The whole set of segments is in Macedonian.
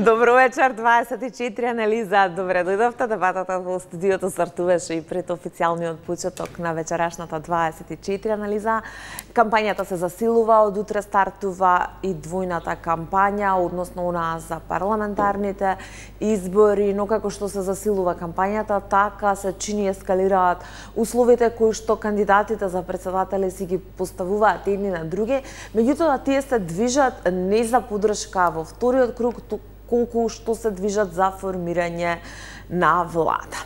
Добро вечер, 24 анализа. Добре дојдовте. Дебатата во студиото стартуваше и пред официјалниот почеток на вечерашната 24 анализа. Кампањата се засилува, од утре стартува и двојната кампања, односно онаа за парламентарните избори, но како што се засилува кампањата, така се чини ескалираат условите кои што кандидатите за председатели си ги поставуваат едни на други, меѓутоа тие се движат не за поддршка во вториот круг, колку што се движат за формирање на влада.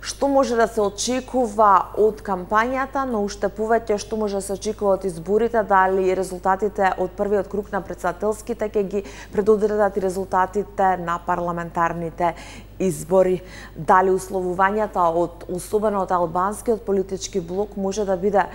Што може да се очекува од кампањата, но уште повеќе што може да се очекува од изборите, дали резултатите од првиот круг на председателските ќе ги предодредат и резултатите на парламентарните избори, дали условувањата особено од албанскиот политички блок може да биде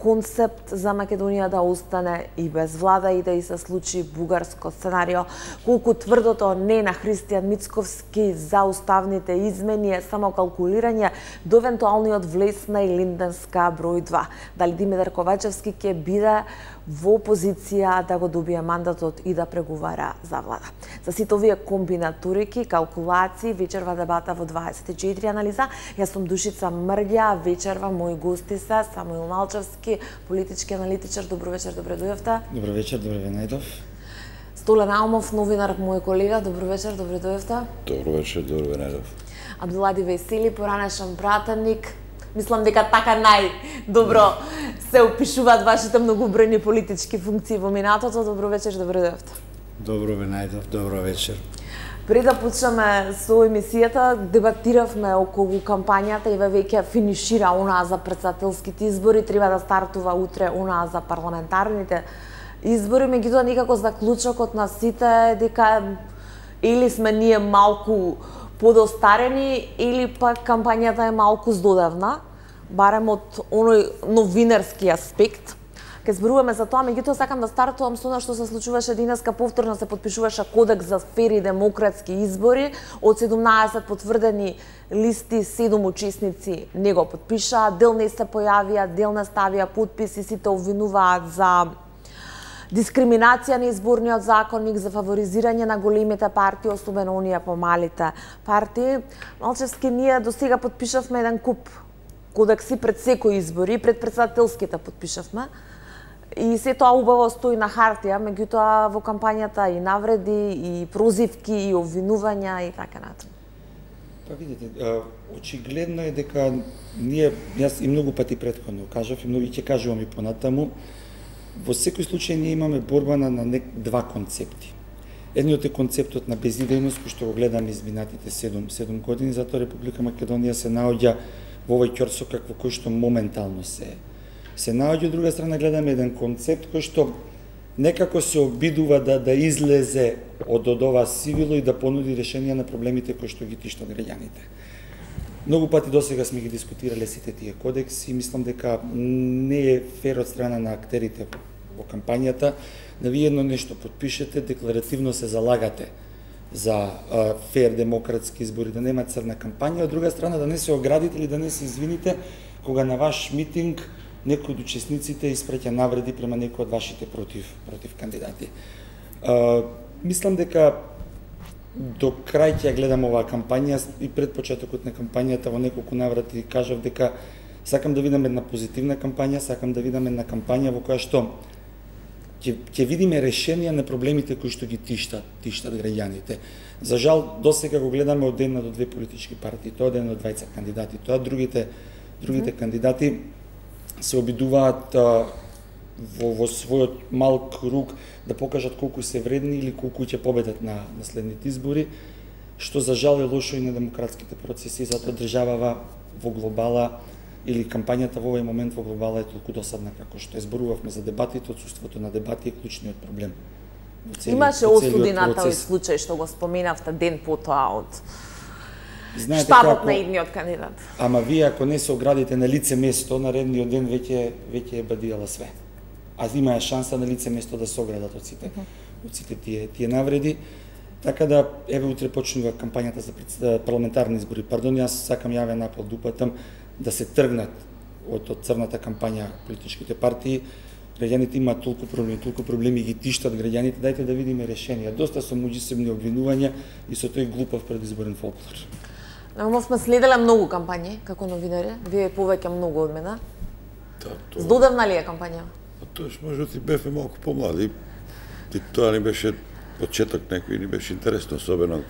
концепт за Македонија да остане и без влада и да и се случи бугарско сценарио, колку тврдото не на Христијан Мицковски за уставните измени е само калкулирање до евентуалниот влез на Илинденска број 2. Дали Димитар Ковачевски ќе биде во позиција да го добие мандатот и да преговара за влада. За сите овие комбинаторики, калкулации, вечерва дебата во 24 анализа. Јас сум Душица Мрѓа, вечерва мои гости се Самуил Малчевски, политички аналитичар. Добро вечер, добре дојдовте. Добро вечер, добре ве најдов. Столен Алмов, новинар, мој колега. Добро вечер, добре дојдовте. Добро вечер, добре ве најдов. Абдулади Весели, поранешен пратеник. Мислам дека така најдобро се опишуваат вашите многобројни политички функции во минатото. Добро вечер, добре дојдовте. Добро ве најдов, добро вечер. Пред да почнеме со емисијата, дебатиравме околу кампањата и веќе финишира онаа за председателските избори, треба да стартува утре онаа за парламентарните избори, меѓутоа некако заклучокот на сите е дека или сме ние малку подостарени или пак кампањата е малку здодевна, барем од оној новинарски аспект. Ке зборуваме за тоа, меѓутоа сакам да стартувам со она што се случуваше денеска, повторно се потпишуваше кодекс за фери демократски избори. Од 17 потврдени листи, 7 учесници не го потпишаа, дел не се појавија, дел не ставија потписи, сите обвинуваат за дискриминација на изборниот законник, за фаворизирање на големите партии, особено оние помалите партии. Малчевски, ние до сега потпишавме еден куп кодекси пред секој избори, пред председателските потпишавме. И се тоа убаво стои на хартија, меѓутоа во кампањата и навреди, и прозивки, и обвинувања и така натаму. Па видите, очигледно е дека ние, јас и многу пати претходно кажав, и многу ќе кажувам и понатаму, во секој случај ние имаме борба на два концепти. Едниот е концептот на безидејност, кој што го гледаме изминатите 7 години, затоа Република Македонија се наоѓа во овој ќорсок во кој што моментално се наоѓа. Од друга страна гледаме еден концепт кој што некако се обидува да излезе од ова сивило и да понуди решенија на проблемите кои што ги тиштат граѓаните. Многу пати досега сме ги дискутирале сите тие кодекси и мислам дека не е фер од страна на актерите во кампањата да вие едно нешто подпишете, декларативно се залагате за фер демократски избори, да нема црна кампања, од друга страна да не се оградите или да не се извините кога на ваш митинг некој од учесниците испраќа навреди према некој од вашите против кандидати. Мислам дека до крај ќе гледам оваа кампања и пред почетокот на кампањата во неколку наврати кажав дека сакам да видам една позитивна кампања, сакам да видам една кампања во која што ќе видиме решенија на проблемите кои што ги тиштат граѓаните. За жал, досега го гледаме од една до две политички партии, тоа од една до двајца кандидати, тоа другите кандидати се обидуваат во својот мал круг да покажат колку се вредни или колку ќе победат на следните избори, што за жал е лошо и на демократските процеси, затоа државава во глобала или кампањата во овој момент во глобала е толку досадна како што зборувавме за дебатите, отсуството на дебати е клучниот проблем. Имаше осуди на тој случај што го споменавте ден потоа од штабот на едниот кандидат. Ама вие ако не се оградите на лице место, наредниот ден веќе е бадијала све. А имаа шанса на лице место да се оградат од сите тие навреди. Така да, еве утре почнува кампањата за парламентарни избори. Пардон, јас сакам јавен апел да упатам да се тргнат од црната кампања политичките партии, граѓаните имаат толку проблеми ги тиштат граѓаните, дајте да видиме решенија. Доста се меѓусебни обвинувања и со тој глупав предизборен фолклор. Намо сме следеле многу кампањи како новинари, вие повеќе многу од мене. Да, Здодевна ли е кампања? Тоаш можда и бевме малку помлади. И тоа ни беше почеток некој ни беше интересно, особено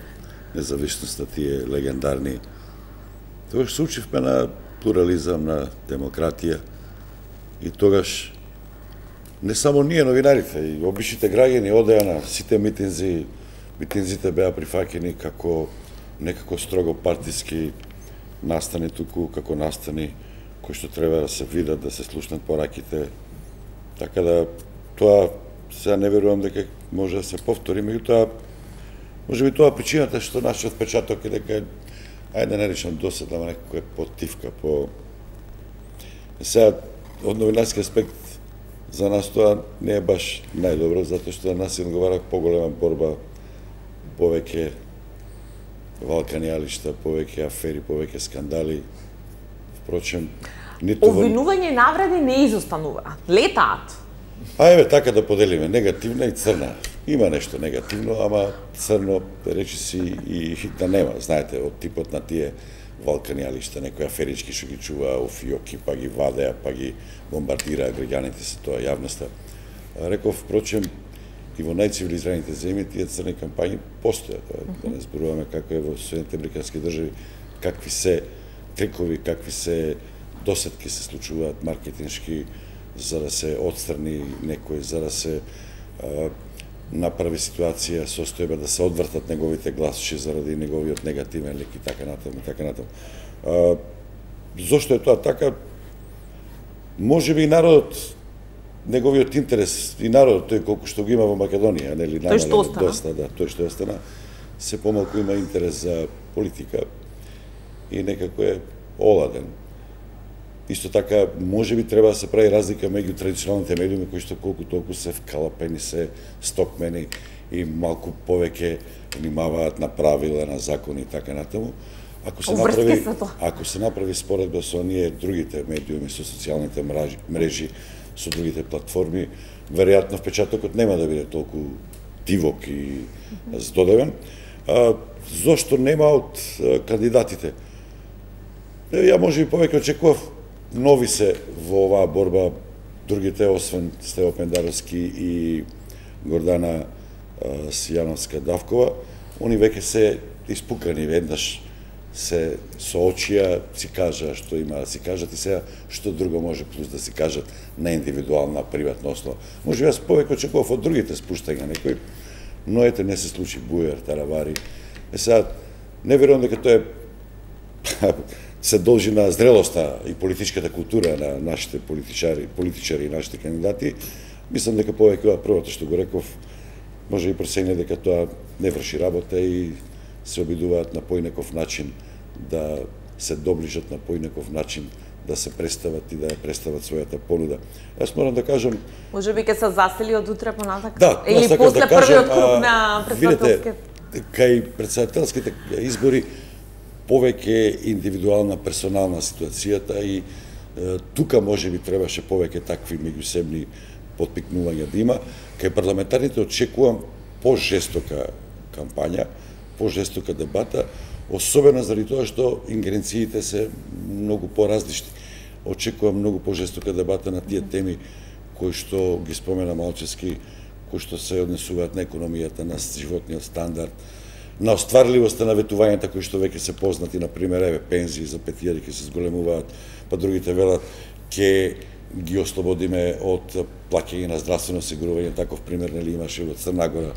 независноста тие легендарни. Тогаш се учивме на плурализам, на демократија. И тогаш не само ние новинарите, и обичните граѓани одеа на сите митинзи. Митинзите беа прифаќени како некако строго партиски настани туку, како настани кои што треба да се видат, да се слушнат пораките. Така да тоа сега не верувам дека може да се повтори, меѓутоа можеби тоа причината што нашиот впечаток е дека ајде да не речам досадна, ама некако е потивка, по сега од новинарски аспект за нас тоа не е баш најдобро, затоа што на нас се одговара поголема борба, повеќе валканијалишта, повеќе афери, повеќе скандали. Впрочем, ниту Обвинување и навреди не изостанува. Летаат. Ајде така да поделиме негативна и црна. Има нешто негативно, ама црно речи си и да нема. Знаете, од типот на тие валканијалишта, некои аферички што ги чуваа офиоки, па ги вадеа, па ги бомбардираа граѓаните се тоа јавноста. Реков, впрочем, и во најцивилизираните земји тие црни кампањи постојат. Да не зборуваме како е во Соединетите американски држави, какви се трикови, какви се досетки се случуваат маркетиншки за да се отстрани некој, за да се направи ситуација, состојба да се одвртат неговите гласчи заради неговиот негативен лик и така натаму, така натаму. Зошто е тоа така? Можеби и народот, неговиот интерес и народот, тој колку што го има во Македонија, нели, тој што остана, доста, да, тој што остана, се помалку има интерес за политика и некако е оладен. Исто така, можеби треба да се прави разлика меѓу традиционалните медиуми кои што колку толку се вкалапени, се стокмени и малку повеќе внимаваат на правила, на закони и така натаму. Ако се направи споредба со оние другите медиуми, со социјалните мрежи, со другите платформи, веројатно впечатокот нема да биде толку дивок и здодевен. Зошто нема од кандидатите? Ја можеби повеќе очекував нови се во оваа борба, другите, освен Стево Пендаровски и Гордана Сијановска-Давкова, они веќе се испукани, веднаш се соочија, си кажа што има да си кажат и сега што друго може плюс да си кажат на индивидуална, приватна основа. Може јас повеќе очекував од другите спуштања некои, но ете не се случи Бујар, Таравари. Сега, не верувам дека тоа е се должи на зрелоста и политичката култура на нашите политичари и нашите кандидати. Мислам дека повеќе првото што го реков, може и пресене дека тоа не врши работа и се обидуваат на поинаков начин да се доближат, на поинаков начин да се представат и да представат својата понуда. Јас морам да кажам... Може би ќе се засели од утре понатак? Да, или после првиот круг на председателските? Видете, кај председателските избори повеќе индивидуална, персонална ситуацијата и тука може би требаше повеќе такви меѓусебни потпикнувања да има. Кај парламентарните очекувам пожестока кампања, пожестока дебата, особено заради тоа што ингеренциите се многу поразлични. Очекувам многу пожестока дебата на тие теми кои што ги спомена Малчевски, кои што се однесуваат на економијата, на животниот стандард, на остварливоста на ветувањата кои што веќе се познати, на пример, пензии за 5.000 ќе се зголемуваат, па другите велат ќе ги ослободиме од плаќање на здравствено осигурување, таков пример нели имаше во Црна Гора.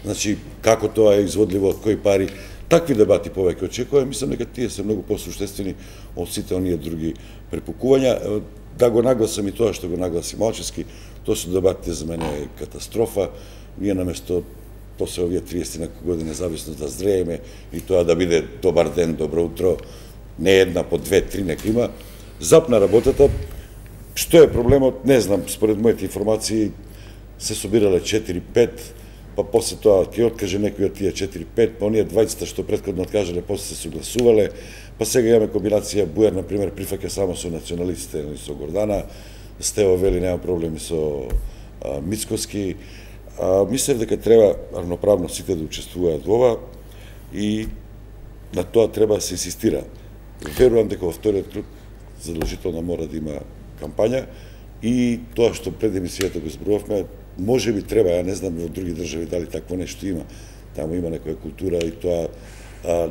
Значи, како тоа е изводливо, од кои пари, такви дебати повеќе очекувам, мислам дека тие се многу посуштествени од сите оние други препукувања. Да го нагласам и тоа што го нагласи Малчевски, тоа се дебатите за мене е катастрофа. Ние наместо после овие 30 години независност да зрееме и тоа да биде добар ден, добро утро, не една, по 2-3 нека има, запна работата. Што е проблемот? Не знам, според моите информации се собирале 4-5, па после тоа ќе откаже некој од тие 4-5, па оние 20 што претходно откажале, после се согласувале, па сега имаме комбинација Бујар, например, прифаќа само со националистите, со Гордана, Стево вели нема проблеми со Мицкоски. Мислев дека треба равноправно сите да учествуваат во ова и на тоа треба да се инсистира. Верувам дека во вториот круг задолжително мора да има кампања и тоа што пред емисијата го зборувавме, може би треба, ја не знам од други држави дали такво нешто има. Таму има некоја култура и тоа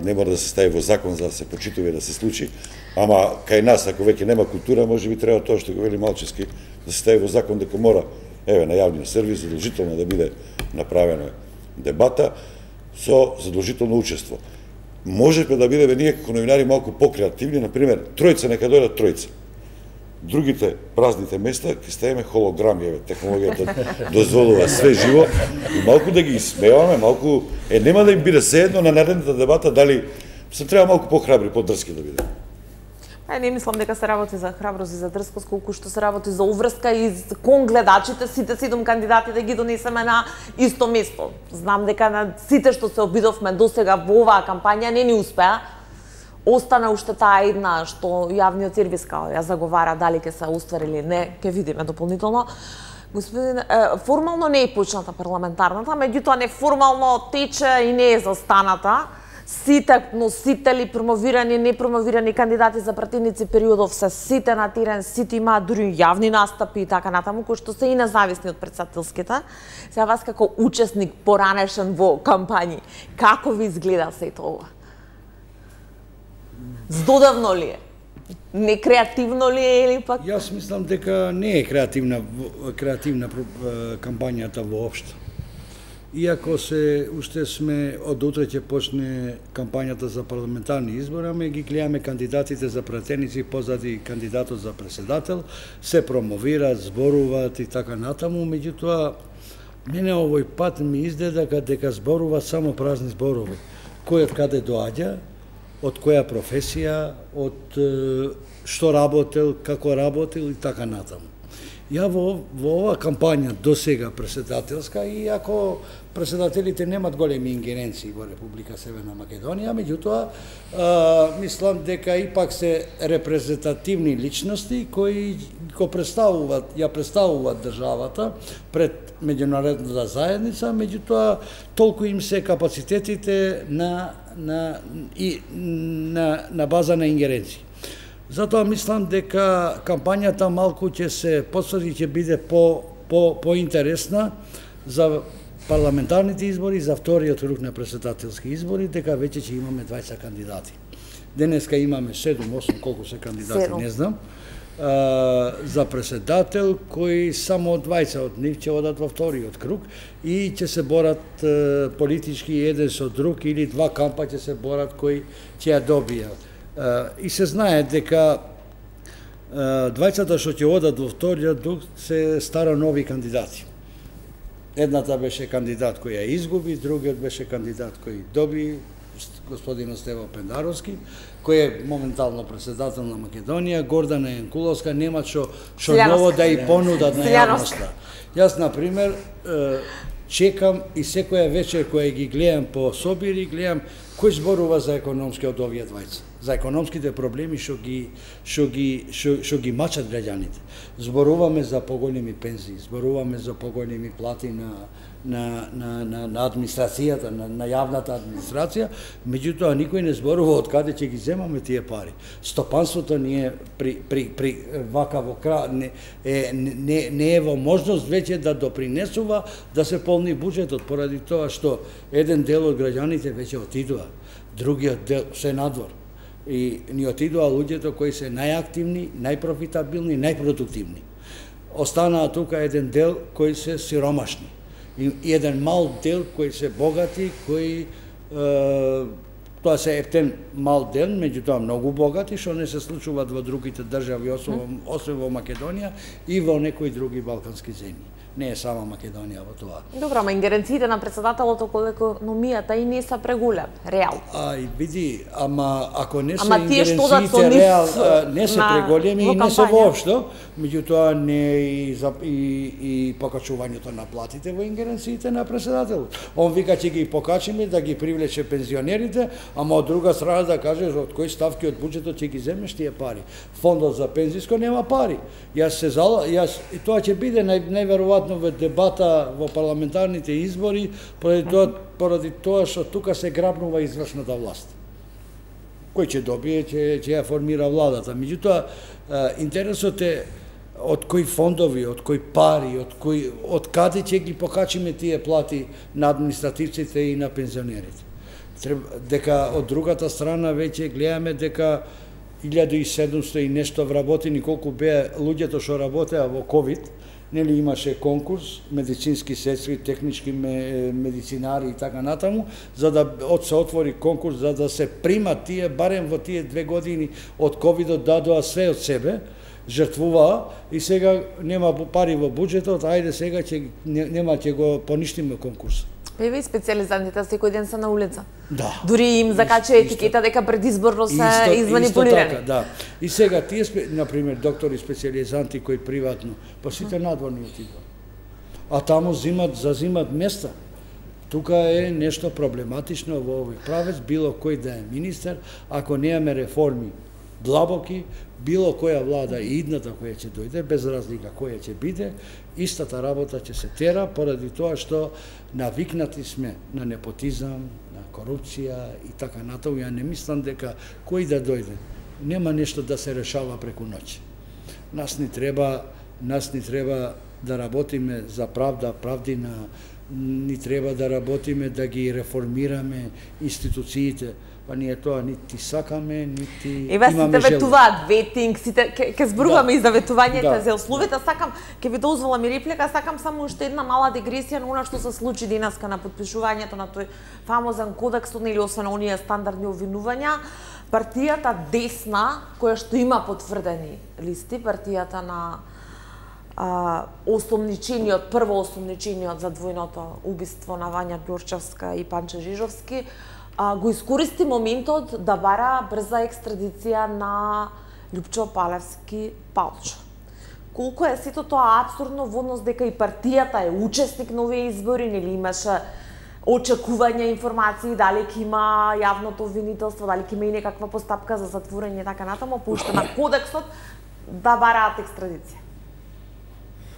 не мора да се стави во закон за да се почитува и да се случи. Ама кај нас, ако веќе нема култура, може би треба тоа што го вели Малчевски, да се стави во закон дека мора, еве, на јавниот сервис задолжително да биде направена дебата со задолжително учество. Можеме да бидеме ние како новинари малку покреативни, например, тројца нека дојдат тројца. Другите празните места ќе ставиме холограми, еве, технологијата дозволува све живо и малку да ги смееваме, малку нема да им биде седно на наредната дебата дали се треба малку похрабри, подрски да биде. Не мислам дека се работи за храброст и за дрскост, колку што се работи за уврска и кон гледачите, сите 7 кандидати да ги донесеме на исто место. Знам дека на сите што се обидовме досега во оваа кампања не ни успеа. Остана уште таа една што јавниот сервис као ја заговара, дали ќе се оствари или не, ќе видиме дополнително. Господин, формално не е почната парламентарната, меѓутоа неформално тече и не е застаната. Сите носители, промовирани, непромовирани кандидати за пратеници периодов се сите на терен, сите имаат дури јавни настапи и така натаму, кои што се и независни од претседателските. Сега вас како учесник поранешен во кампањи, како ви изгледа сето ова? Здодавно ли е? Некреативно ли е или пак? Јас мислам дека не е креативна кампањата воопшто. Иако уште сме од утре ќе почне кампањата за парламентарни избори, ама ги гледаме кандидатите за пратеници позади кандидатот за председател, се промовираат, зборуваат и така натаму, меѓутоа мене овој пат ми изгледа дека зборуваат само празни зборови. Кој од каде доаѓа, од која професија, од што работел, како работел и така натаму. Ја во оваа кампања до сега председателска, иако председателите немат големи ингеренции во Република Северна Македонија, меѓутоа мислам дека ипак се репрезентативни личности кои ја представуваат државата пред меѓународната заедница, меѓутоа толку им се капацитетите на база на ингеренции. Затоа мислам дека кампањата малку ќе се потврди, ќе биде поинтересна за парламентарните избори, за вториот круг на претседателски избори, дека веќе ќе имаме 20 кандидати. Денеска имаме 7-8, колку се кандидати, не знам, за претседател, кои само 20 од нив ќе одат во вториот круг и ќе се борат политички еден со друг или два кампа ќе се борат кои ќе ја добијат. И се знае дека двајцата што ќе одат во вториот круг се стара нови кандидати. Едната беше кандидат кој ја изгуби, другиот беше кандидат кој доби, господин Стево Пендаровски, кој е моментално председател на Македонија, Гордана Јанкуловска, нема што ново да и понудат на јавноста. Јас, например, чекам и секоја вечер која ги гледам по собири, гледам кој зборува за економски од овие двајца, за економските проблеми што ги мачат граѓаните. Зборуваме за поголеми пензии, зборуваме за поголеми плати на администрацијата, на јавната администрација, меѓутоа никој не зборува од каде ќе ги земаме тие пари. Стопанството не е при вакаво не е во можност веќе да допринесува да се полни буџетот, поради тоа што еден дел од граѓаните веќе отидува, другиот дел се надвор. И ни отидува луѓето кои се најактивни, најпрофитабилни, најпродуктивни. Останаа тука еден дел кои се сиромашни и еден мал дел кои се богати, кои тоа се ефтен мал дел, меѓутоа многу богати, што не се случуваат во другите држави, освен во Македонија и во некои други балкански земји. не е сама Македонија во тоа. Добро, ама ингеренциите на председателот околу економијата и не се преголем, реал. И види, ама ако не се ингеренциите реал, не се преголеми и не се воопшто, меѓутоа не и покачувањето на платите во ингеренциите на председателот. Он вика ќе ги покачиме да ги привлече пензионерите, ама од друга страна да кажеш од кои ставки од буџетот ќе ги земеш тие пари. Фондот за пензиско нема пари. И тоа ќе биде најверојатно во дебата во парламентарните избори поради тоа што тука се грабнува извршната власт. Кој ќе добие, ќе ја формира владата. Меѓутоа, интересот е од кои фондови, од кои пари, од каде ќе ги покачиме тие плати на административците и на пензионерите. Дека од другата страна веќе гледаме дека 1700 и нешто вработени, колку беа луѓето што работеа во ковид, нели имаше конкурс, медицински сестри, технички медицинари и така натаму, за да се отвори конкурс за да се примат тие, барем во тие 2 години од ковидот дадоа све од себе, жртвуваа и сега нема пари во буџетот, ајде сега ќе го поништиме конкурс. Еве и специјализантите секој ден се на улица. Да. Дури им закача етикета дека предизборно се изманипулирани. Така, да. И сега тие например доктори специјализанти кои приватно, па сите надворни отидоа. А таму зазимат места. Тука е нешто проблематично во овој правец, било кој да е министер, ако немаме реформи длабоки, било која влада и идната која ќе дојде, без разлика која ќе биде, истата работа ќе се тера поради тоа што навикнати сме на непотизам, на корупција и така натаму. Ја не мислам дека кој да дојде, нема нешто да се решава преку ноќ. Нас ни треба да работиме за правда, правдина, ни треба да работиме да ги реформираме институциите. Па ние тоа нити сакаме, нити имаме желба. Сите ветуваат, ветинг, сите ке зборуваме и за ветувањето, за условите. Сакам, ке ви дозволам и реплика, сакам само уште една мала дегресија на она што се случи денеска на подпишувањето на тој фамозен кодекс, или освен оние стандардни обвинувања. Партијата десна, која што има потврдени листи, партијата на прво осомничениот за двојното убиство на Вања Ѓурчевска и Панче Жижовски, го искористи моментот да бара брза екстрадиција на Љупчо Палевски Палчо. Колку е сето тоа апсурдно во однос дека и партијата е учесник на овие избори, нели имаше очекувања, информации, дали ќе има јавното обвинителство, дали ќе има и некаква постапка за затворање и така натаму, пушта на кодексот да бараат екстрадиција.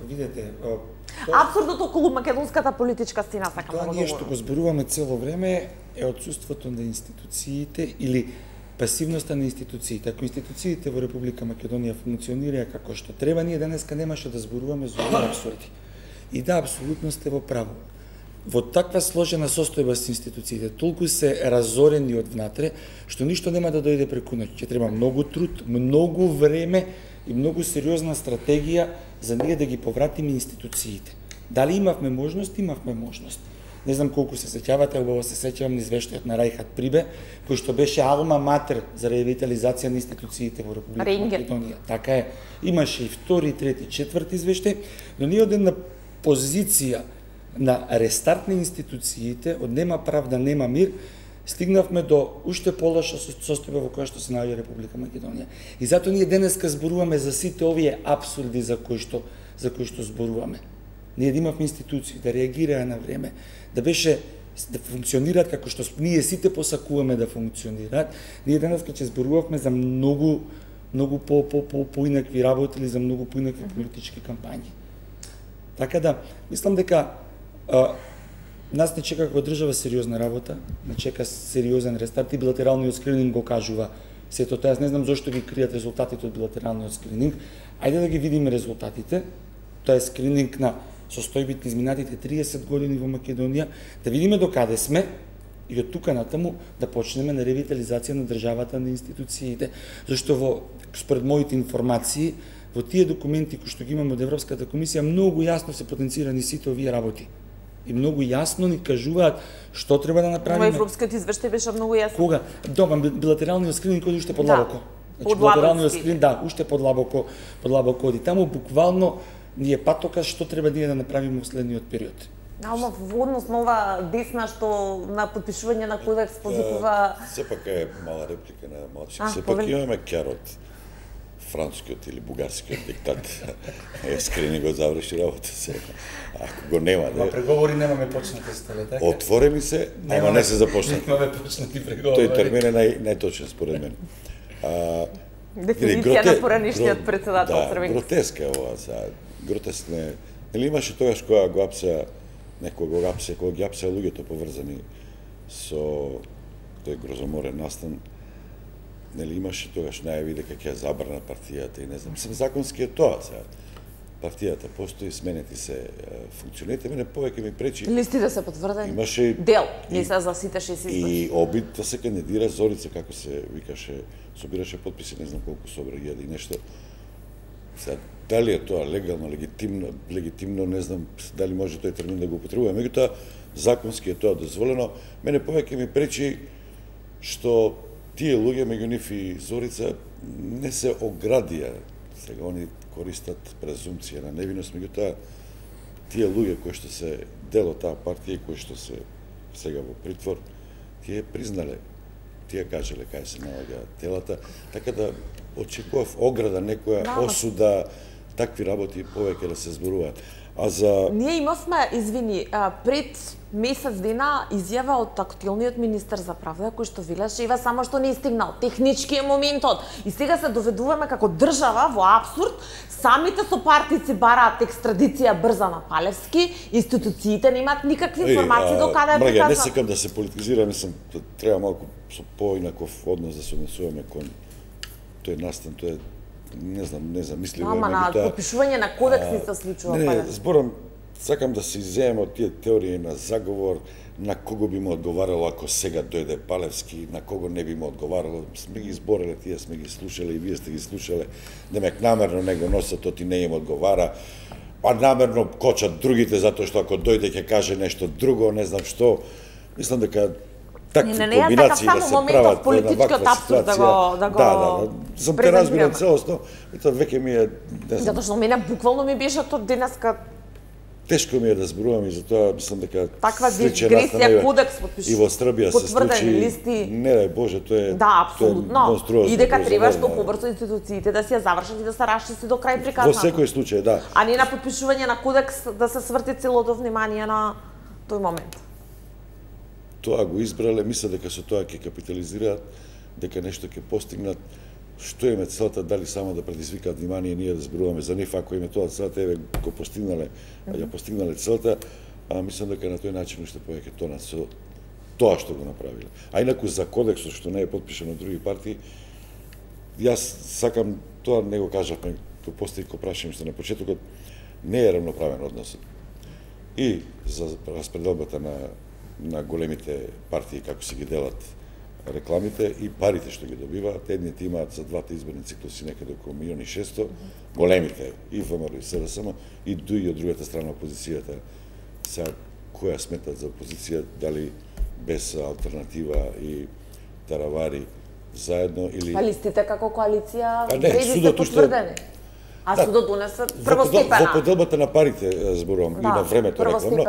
Видете, апсурдот околу македонската политичка сцена сакам да го тоа ние што го зборуваме цело време е отсуството на институциите или пасивноста на институциите. Ако институциите во Република Македонија функционираат како што треба, ние денеска немаше да зборуваме за овие апсурди. И да, апсолутно сте во право. Во таква сложена состојба с институциите, толку се разорени од внатре, што ништо нема да дојде преку ноќ. Ќе треба многу труд, многу време и многу сериозна стратегија за ние да ги повратиме институциите. Дали имавме можност? Имавме можност. Не знам колку се сеќавате, убаво се сеќавам на извештајот на Рајхат Прибе, кој што беше алма матер за ревитализација на институциите во Република Македонија. Така е. Имаше и втори, трети, четврти извештај, но ние од една позиција на рестарт на институциите, од нема правда, нема мир, стигнавме до уште полоша состојба во која што се наоѓа Република Македонија. И затоа ние денеска зборуваме за сите овие апсурди за кои што зборуваме. Ние да имавме институции, да реагираа на време, да функционираат како што ние сите посакуваме да функционираат, ние денеска ќе зборувавме за многу поинакви работи или за многу поинакви политички кампањи. Така да, мислам дека нас не чека како држава сериозна работа, не чека сериозен рестарт и билатералниот скрининг го кажува сето тоа. Јас не знам зошто ги кријат резултатите од билатералниот скрининг. Ајде да ги видиме резултатите. Тоа е скрининг на состојбите изминатите 30 години во Македонија, да видиме до каде сме и од тука натаму да почнеме на ревитализација на државата, на институциите, зашто според моите информации во тие документи кои што ги имаме од Европската комисија многу јасно се потенцирани сите овие работи. И многу јасно ни кажуваат што треба да направиме. Овој европскиот извештај беше многу јасно. Кога? Добар, билатералниот скрининг оди уште подлабоко. Значи билатералниот скрининг, уште подлабоко оди. Таму буквално ние патока што треба ние да направиме во следниот период. Ама во однос на ова десна што на потпишување на кодекс позикува... Сепак е мала реплика на Малчик. Сепак имаме керот францускиот или бугарскиот диктат. Скрини го заврши работа се. Ако го нема, Ма преговори немаме почнати стеле, така? Отворени се, ама не се започнати. Немаме почнати преговори. Тој термин е најточен според мен. Дефиниција на поранишниот председател Црвенски. Гротеска е ова, гротеск не. Нели имаше тогаш кога го апса кога ги апса луѓето поврзани со тој грозоморен настан, нели имаше тогаш најави дека ќе забрана партијата и не знам, законски е тоа сега. Партијата постои, сменети се функционерите, мене повеќе ми пречи. Листите се потврдени. Имаше дел, не се за сите 6 избори. И обид да се кандидира Зорица, како се викаше, собираше подписи, не знам колку собира, 1000 и нешто. Сега, дали е тоа легално, легитимно, не знам дали може тој термин да го употребува. Меѓутоа, законски е тоа дозволено. Мене повеќе ми пречи што тие луѓе, меѓу нив и Зорица, не се оградија. Сега, они користат презумпција на невиност, меѓутоа, тие луѓе кои што се дел од таа партија и кои што се сега во притвор, тие признале, тие кажале кај се наоѓаат телата, така да очекував ограда, некоја осуда, такви работи повеќе да се зборуваат. А за... Ние имавме, извини, пред месец дена изјава од актуелниот министер за правда, кој што велеше ива само што не стигнал. Технички е моментот. И сега се доведуваме како држава во абсурд. Самите сопартици бараат екстрадиција брза на Палевски, институциите немаат никакви информации до каде е приказна. приказна. Не сакам да се политизира, мислам, треба малку со поинаков однос да се однесуваме кон тој настан, тој не знам, мислимо. Ама на подпишување на кодекс не се случува. Не, зборам, сакам да се изземеме од тие теории на заговор, на кого би му одговарало ако сега дојде Палевски, на кого не би му одговарало. Сме ги збореле, тие сме ги слушале и вие сте ги слушале. Демек намерно не го носат, тоти не им одговара. Па намерно кочат другите, затоа што ако дојде ќе каже нешто друго, не знам што. Мислам дека такви комбинации да се прават во ваква ситуација. Да, сам те разбирам целосно, и тоа веќе ми е, не знам. Затоа што мене буквално ми беше тоа денеска. Тешко ми е да зборувам и затоа мислам дека таква дигресија, кодекс и во Србија се случи. Листи. Не дај Боже, тоа е да, апсолутно. И дека треба што да. побрзо институциите да се ја завршат и да се расчисти до крај приказната. Во секој случај, да. А не на подпишување на кодекс да се сврти целото внимание на тој момент. Тоа го избрале, мисля дека со тоа ќе капитализираат, дека нешто ќе постигнат. Што им е целта, дали само да предизвикаат внимание ние да зборуваме за нив, ако им е тоа целта, еве го постигнале, ја постигнале целта, а мислам дека на тој начин уште повеќе тонат со тоа што го направиле. А инаку за кодексот што не е потпишан од други партии, јас сакам тоа не го кажавме, го постави ко прашање што на почетокот не е равноправен односот. И за распределбата на големите партии како се ги делат рекламите и парите што ги добиваат, едните имаат за двата изборни циклуси некаде околу 1.600.000, големите, и ВМРО и СДСМ, и од другата страна опозицијата. Сега, која сметат за опозиција, дали без алтернатива и таравари заедно или... Па листите како коалиција не, преди се потврдени. А судот донесе првостепена. Во поделбата на парите зборувам и на времето рекламно.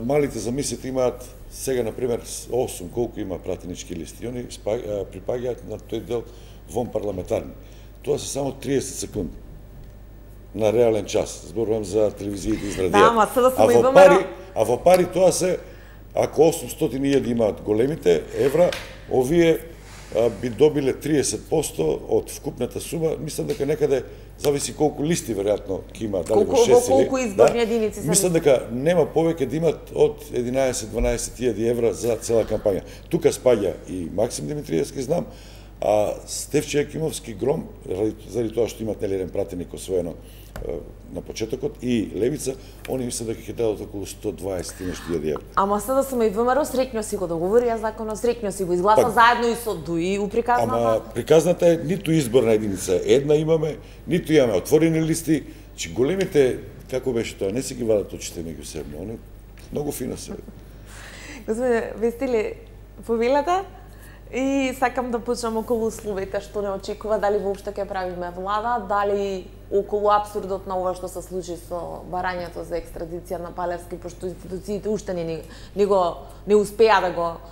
Малите, замислите, имаат сега, например, 8, колку има пратенички листи. Они припаѓаат на тој дел вон парламентарни. Тоа се само 30 секунди на реален час. Зборувам за телевизиите и радиото. Да, ама сега сме и а во пари тоа се, ако 800.000 имаат големите евра, овие би добиле 30% од вкупната сума. Мислам дека некаде зависи колку листи веројатно ќе има, дали во 6 или... Колку изборни единици се. Мислам дека нема повеќе да имат од 11-12.000 евра за цела кампања. Тука спаѓа и Максим Димитриевски, знам, а Стефче Екимовски Гром, заради тоа што имат еден пратеник освоено на почетокот, и Левица, они мислам дека ќе дадат околу 120.000 евра. Ама сега сме и ВМРО среќно си го договорија законот, среќно си го изгласа заедно и со ДУИ у приказната. Ама приказната е ниту изборна единица една имаме, ниту имаме отворени листи, че големите, како беше тоа, не се ги вадат очите меѓусебно, они многу фино се. Господине Вестиле, повелата, И сакам да почнам околу условите што не очекува, дали воопшто ќе правиме влада, дали околу абсурдот на ова што се случи со барањето за екстрадиција на Палевски, пошто институциите уште не успеа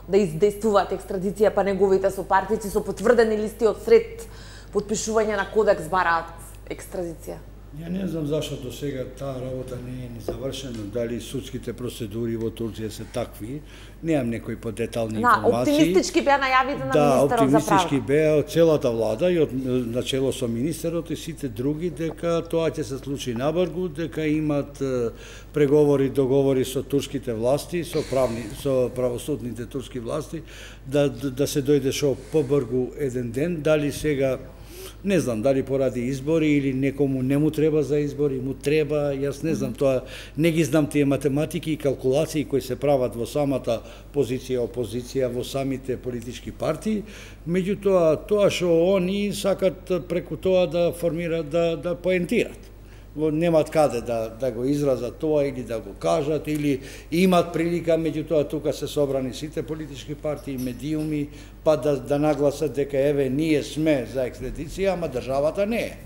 да издействуваат екстрадиција, па неговите сопартици со потврдени листи од сред потпишување на кодекс бараат екстрадиција. Ја не знам зашто до сега таа работа не е ни завршена, дали судските процедури во Турција се такви, немам некои подетални информации. Оптимистички беа најавите на министерот за права. Да, оптимистички беа од целата влада и од начело со министерот и сите други дека тоа ќе се случи набрзо, дека имат преговори, договори со турските власти, со правосудните турски власти, да се дојде шо побрзо еден ден, дали сега не знам дали поради избори или некому не му треба за избори, му треба, јас не знам тоа, не ги знам тие математики и калкулации кои се прават во самата позиција опозиција, во самите политички партии, меѓутоа тоа што они сакат преку тоа да формираат, да поентират. Немат каде да го изразат тоа или да го кажат, или имат прилика, меѓутоа тука се собрани сите политички партии, медиуми, па да нагласат дека еве ние сме за екстрадиција, ама државата не е.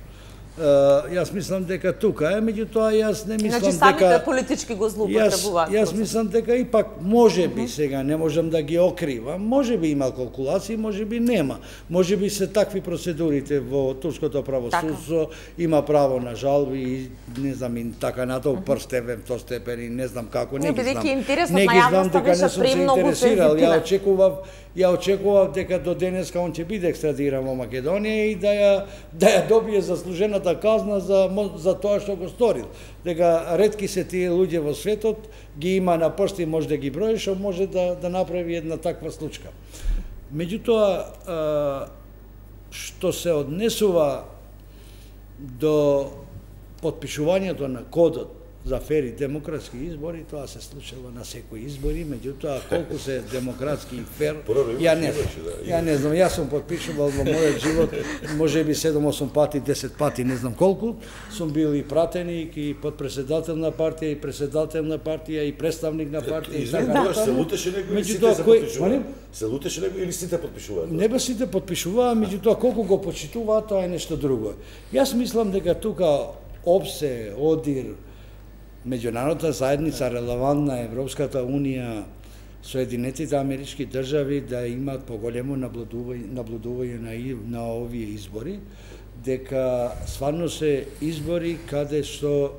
Јас мислам дека тука е, меѓутоа јас не мислам дека... Значи самите политички го злоупотребуваат. Јас мислам дека ипак може би сега, не можам да ги окривам, може би има калкулации, може би нема. Може би се такви процедурите во турското правосудство, има право на жалби и не знам и така натаму прв степен, втор степен и не знам како, не ги знам. Не ги знам дека не сум се интересирал. Ја очекував дека до денеска он ќе биде екстрадиран во Македонија и да ја добие заслужената казна за тоа што го сторил. Дека ретки се тие луѓе во светот, ги има на прсти, може да ги брои, што може да направи една таква случка. Меѓутоа, што се однесува до потпишувањето на кодот за фери демократски избори, тоа се случува на секои избори, меѓутоа колку се демократски и фер, ја не знам, јас сум потпишувал во мојот живот, можеби 7-8 пати, 10 пати, не знам колку, сум бил и пратеник, и подпредседател на партија, и председател на партија, и представник на партија, и така натаму. Се лутеше него или сите се потпишуваа? Се лутеше него или сите потпишуваа? Не бе сите потпишуваа, меѓутоа колку го почитуваат, тоа е нешто друго. Јас мислам дека тука ОПСЕ, ОДИР, меѓународната заедница, релевантна Европската унија, Соединетите амерички држави да имаат поголемо наблюдување на овие избори, дека стварно се избори каде што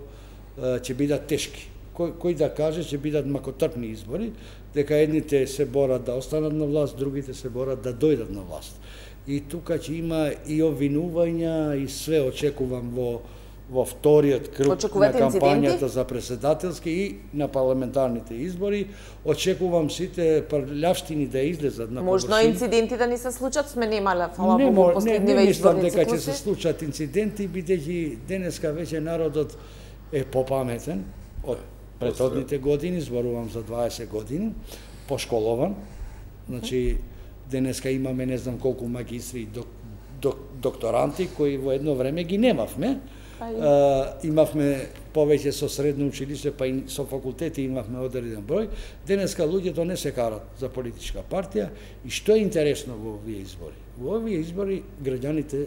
ќе бидат тешки. Кој да каже ќе бидат макотрпни избори, дека едните се борат да останат на власт, другите се борат да дојдат на власт. И тука ќе има и обвинувања и све очекувам во вториот круг на кампањата за председателски и на парламентарните избори. Очекувам сите прљавштини да излезат на површина. Можно инциденти да ни се случат, сме немале, фала Богу, последниве изборни Не мислам дека ќе циклуси. се случат инциденти, бидејќи денеска веќе народот е попаметен од претходните години, зборувам за 20 години, пошколован. Значи, денеска имаме не знам колку магистри и докторанти кои во едно време ги немавме. Имавме повеќе со средно училиште, па и со факултети имавме одреден број. Денеска луѓето не се карат за политичка партија. И што е интересно во овие избори? Во овие избори граѓаните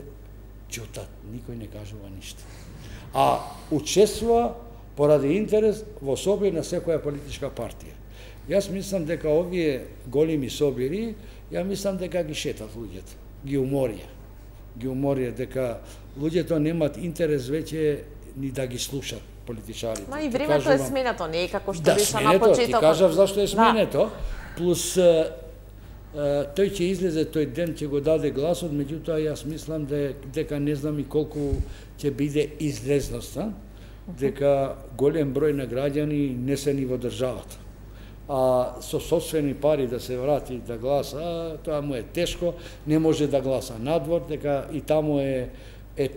ќутат, никој не кажува ништо. А учествува поради интерес во собир на секоја политичка партија. Јас мислам дека овие големи собири, ја мислам дека ги шетат луѓето, ги уморија, дека луѓето немаат интерес веќе ни да ги слушат политичарите. Ма и времето е сменето, не е како што беше на почетокот. Ти кажав зашто е сменето, плюс тој ќе излезе тој ден, ќе го даде гласот, меѓутоа јас мислам дека не знам и колку ќе биде излезноста, дека голем број на граѓани не се ни во државата. А со собствени пари да се врати да гласа, тоа му е тешко, не може да гласа надвор, дека и таму е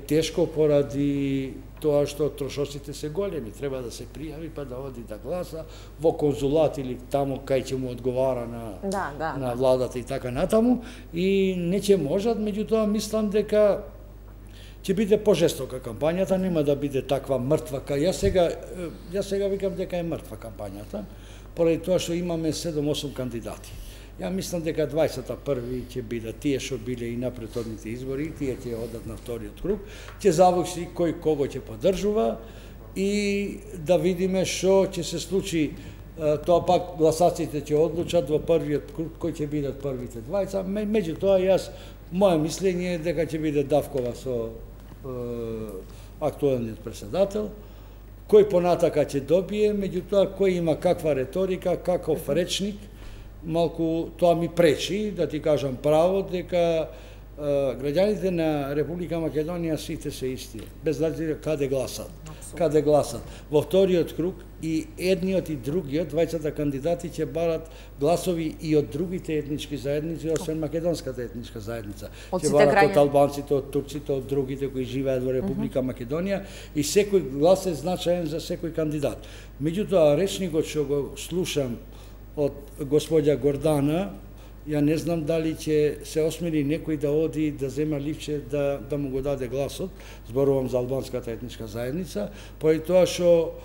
тешко поради тоа што трошоците се големи, треба да се пријави па да оди да гласа во конзулат или таму кај ќе му одговара на владата и така натаму, и не ќе можат, меѓутоа мислам дека ќе биде пожестока кампањата, нема да биде таква мртва. Јас сега викам дека е мртва кампањата, поради тоа што имаме 7-8 кандидати. Ја мислам дека 21 ќе бидат тие што биле и на претходните избори, тие ќе одат на вториот круг, ќе зависи кој кого ќе поддржува и да видиме што ќе се случи. Тоа пак гласаците ќе одлучат во првиот круг кој ќе бидат првите двајца. Меѓутоа јас моје мислење е дека ќе биде давкова со актуелниот председател, кој понатака ќе добие, меѓутоа кој има каква реторика, каков речник, малку тоа ми пречи да ти кажам право дека граѓаните на Република Македонија сите се исти, без разлика каде гласат. Каде гласат. Во вториот круг и едниот и другиот, двајцата кандидати ќе барат гласови и од другите етнички заедници, освен македонската етничка заедница. Ќе барат од албанците, од турците, од другите кои живеат во Република Македонија и секој глас е значаен за секој кандидат. Меѓутоа, речникот што го слушам од господја Гордана, ја не знам дали ќе се осмели некој да оди да зема ливче да му го даде гласот, зборувам за албанската етничка заедница, поради тоа што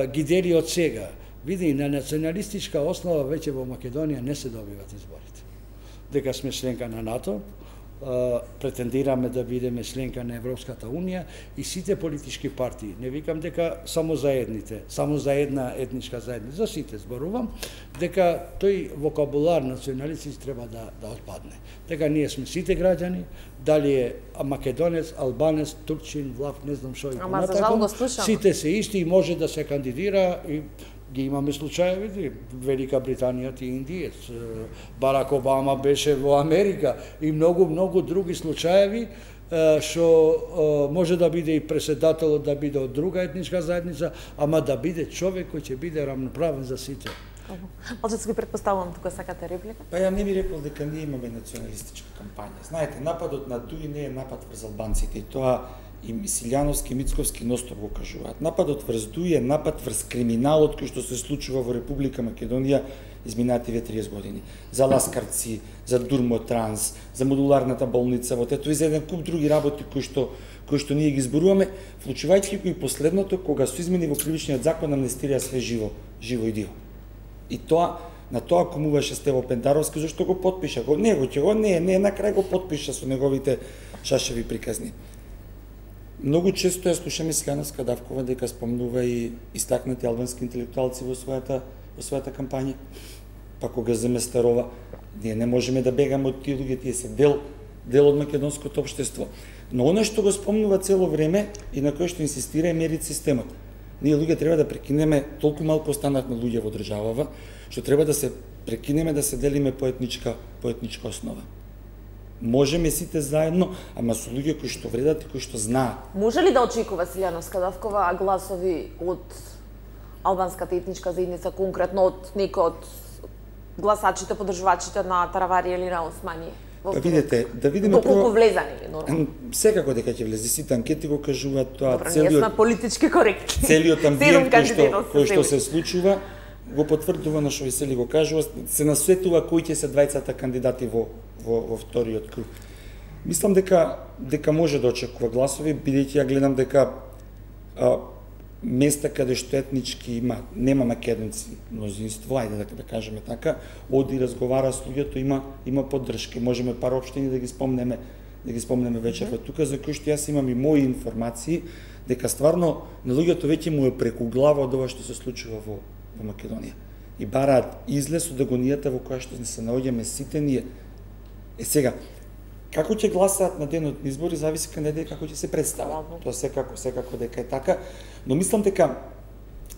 ги дели од сега. Види, на националистичка основа веќе во Македонија не се добиват изборите. Дека сме членка на НАТО, претендираме да бидеме членка на Европската Унија и сите политички партии, не викам дека само за едните, само за една етничка заедница, за сите зборувам, дека тој вокабулар националист треба да отпадне. Дека ние сме сите граѓани, дали е македонец, албанец, турчин, влав, не знам што и понатако, сите се исти и може да се кандидира и ги имаме случаеви, Велика Британија ти индиец, Барак Обама беше во Америка и многу други случаеви што може да биде и председателот да биде од друга етничка заедница, ама да биде човек кој ќе биде рамноправен за сите. Малче ги претпоставувам тука сакате реплика? Па ја не би рекол дека ние имаме националистичка кампања. Знаете, нападот на Дуи не е напад врз албанците и тоа и Силјановски, Мицковски ностов го кажуваат. Нападот врз Дуи е напад врз криминалот кој што се случува во Република Македонија изминативе 30 години. За Ласкарци, за Дурмотранс, за модуларната болница, во тето и за еден куп други работи кои што ние ги зборуваме, вклучувајќи го и последното кога се измени во кривичниот закон амнестирија све живо и диво. И тоа на тоа комуваше Стево Пендаровски зашто го потпиша. Не, на крај го потпиша со неговите шашеви приказни. Многу често ја слушаме Силјановска Давкова дека спомнува и истакнати албански интелектуалци во својата кампања. Па кога земе Старова, ние не можеме да бегаме од тие луѓе, тие се дел од македонското општество. Но она што го спомнува цело време и на кој што инсистира е мерит системот. Ние луѓе треба да прекинеме, толку малку останавме луѓе во државава, што треба да се прекинеме да се делиме по етничка основа. Можеме сите заедно, ама со луѓе кои што вредат и кои што знаат. Може ли да очекува Силјановска Давкова гласови од албанската етничка заедница, конкретно од некој од гласачите, поддржувачите на Таравари или на Османи? Па видите, да видиме доколку влезани, нормално. Секако дека ќе влезе, сите анкети го кажуваат тоа. Добро, ние сме политички коректни. Целиот амбиент кој што се случува го потврдува на што Весели го кажува, се насветува кои ќе се двајцата кандидати во вториот круг. Мислам дека може да очекува гласови, бидејќи ја гледам дека места каде што етнички нема македонци мнозинство, ајде да кажеме така, оди разговара со луѓето, има поддршка. Можеме пар општини да ги спомнеме вечерва тука, за кои што јас имам и мои информации дека стварно на луѓето веќе му е преку глава од ова што се случува во Македонија. И бараат излез од агонијата во која што се наоѓаме сите ние. Сега, како ќе гласаат на денот на избори, зависи кандидатите како ќе се представат. Тоа секако дека е така, но мислам дека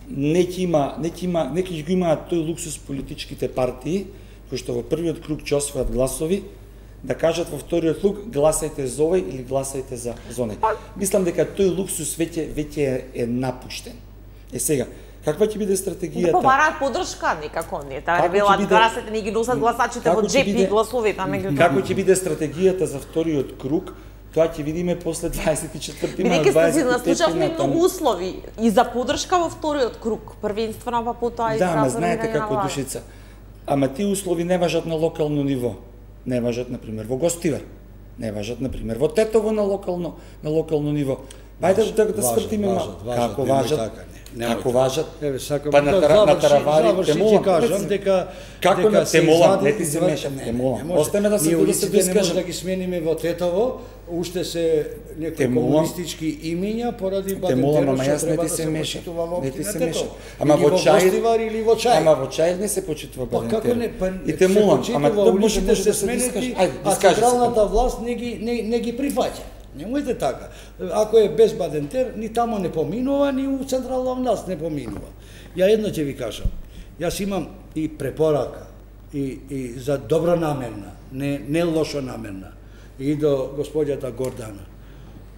не ќе го имаат тој луксус политичките партии кои што во првиот круг ќе освојат гласови, да кажат во вториот круг гласајте за овој или гласајте за оној. Мислам дека тој луксус веќе е напуштен. Сега, каква ќе биде стратегијата? Да побараат поддршка некако, не таа ревела гласите, не ги носат гласачите во джеп и гласовите, меѓутоа. Како ќе биде стратегијата за вториот круг? Тоа ќе видиме после 24 маа, 25 бидејќи се наслушавме многу услови и за поддршка во вториот круг, првенствено па потоа и за ама знаете како Душица. Ама тие услови не важат на локално ниво. Не важат, например, во Гостивар. Не важат, например, во Тетово на локално ниво. Ајде да свртиме како важат. Како важат? Еве сакам па на таравари те молам. Кажам дека како на те молам, не ти се мешам, те молам. Остаме да се искажам да ги смениме во Тетово, уште се некои комунистички имиња поради Бадентеров што треба да се почитува во општина Тетово. Ама во Чај или во Чај. Ама во Чај не се почитува Бадентеров. Како не, и те молам, ама улиците се сменети, а централната власт не ги прифаќа. Немојте така. Ако е без Бадентер, ни тамо не поминува, ни у централна власт не поминува. Ја едно ќе ви кажам. Јас имам и препорака, и за добра намерна, не лошо намерна, и до господјата Гордана.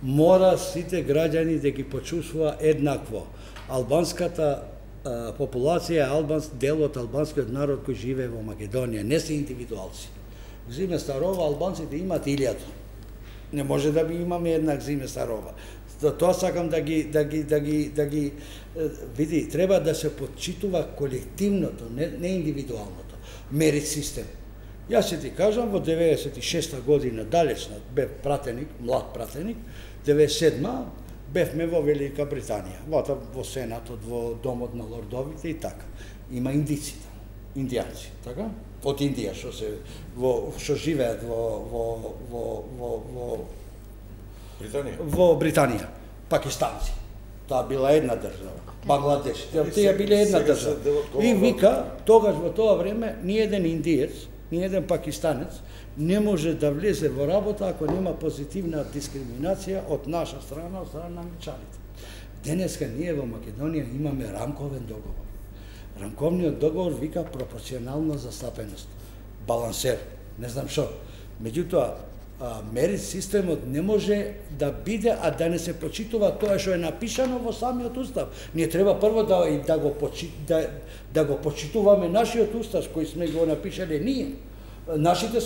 Мора сите граѓани да ги почувствува еднакво. Албанската популација, дел од албанскиот народ кој живее во Македонија, не се индивидуалци. Зиме Старова албанците имаат 1000. Не може да би имаме еднак Зиме Старова. За тоа сакам да ги види, треба да се почитува колективното, не индивидуалното. Мерит систем. Јас ќе ти кажам, во 96-та година, далечна, бев пратеник, млад пратеник, 97-ма, бевме во Велика Британија, во Сенатот, во Домот на лордовите и така. Има индици, индијанци, така? Од Индија што живеат во Британија, пакистанци. Таа била една држава. Бангладеш, тие биле една држава. И вика, тогаш во тоа време ни еден индиец, ни еден пакистанец не може да влезе во работа ако нема позитивна дискриминација од наша страна, од страна на англичаните. Денеска ние во Македонија имаме рамковен договор. Рамковниот договор вика пропорционална застапеност, балансер, не знам што. Меѓутоа, мерит системот не може да биде, а да не се почитува тоа што е напишано во самиот устав. Ние треба прво да го почитуваме нашиот устав кој сме го напишале ние. Нашите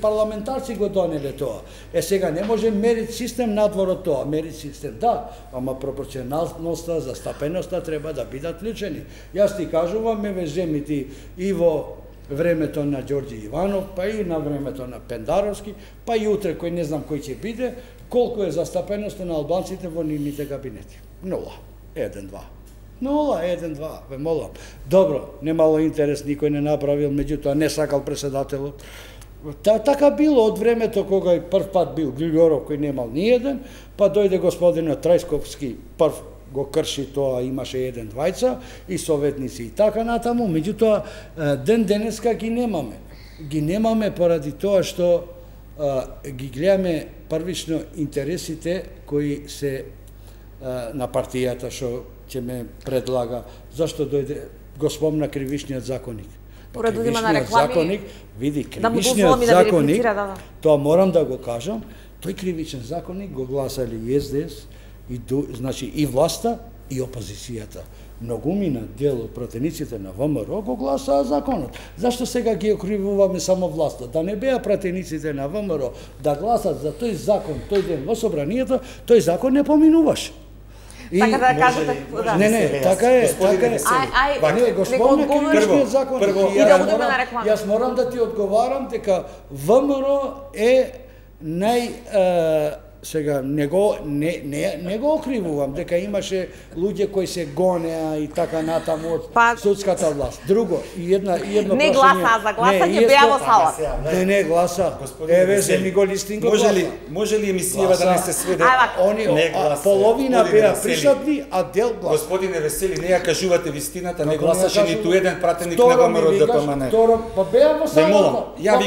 парламентарци го донеле тоа. Сега не може мерит систем надвор од тоа. Мерит систем да, ама пропорционалноста, застапеноста треба да бидат вклучени. Јас ти кажувам, ме земити и во времето на Ѓорѓи Иванов, па и на времето на Пендаровски, па и утре кој не знам кој ќе биде, колку е застапеноста на албанците во нивните кабинети. 0, 1, 2. 0, 1, 2, ве молам. Добро, немало интерес, никој не направил, меѓутоа не сакал председателот. Така било од времето кога прв пат бил Глигоров кој немал ни еден, па дојде господинот Трајсковски, прв го крши тоа, имаше 1 двајца и советници и така натаму, меѓутоа ден денеска ги немаме. Ги немаме поради тоа што ги гледаме првично интересите кои се на партијата што ќе ме предлага. Зашто дојде, го спомна кривишниот законник. Кривишниот законник, види, кривишниот законник, тоа морам да го кажам, тој кривичен законник го гласали и СДС, значи и власта, и опозицијата. Многумина дел од пратениците на ВМРО го гласаа законот. Зашто сега ги окривуваме само власта? Да не беа пратениците на ВМРО да гласат за тој закон тој ден во собранието, тој закон не поминуваше. Така да кажете, не, така е, така е. Не, господине, кривишниот закон. И да одиме на реклама. Јас морам да ти одговарам дека ВМРО е сега не го окривувам дека имаше луѓе кои се гонеа и така натаму од судската власт. Друго, едно прашање. Не гласа за гласање, беа во салата. Не гласа. Еве земи го листинг го гласа. Може ли емисијава да не се сведе? Они половина беа присутни, а дел гласа. Господине Весели, не ја кажувате вистината, не гласаше ниту еден пратеник на ВМРО ДПМН. Па беа во салата. Ја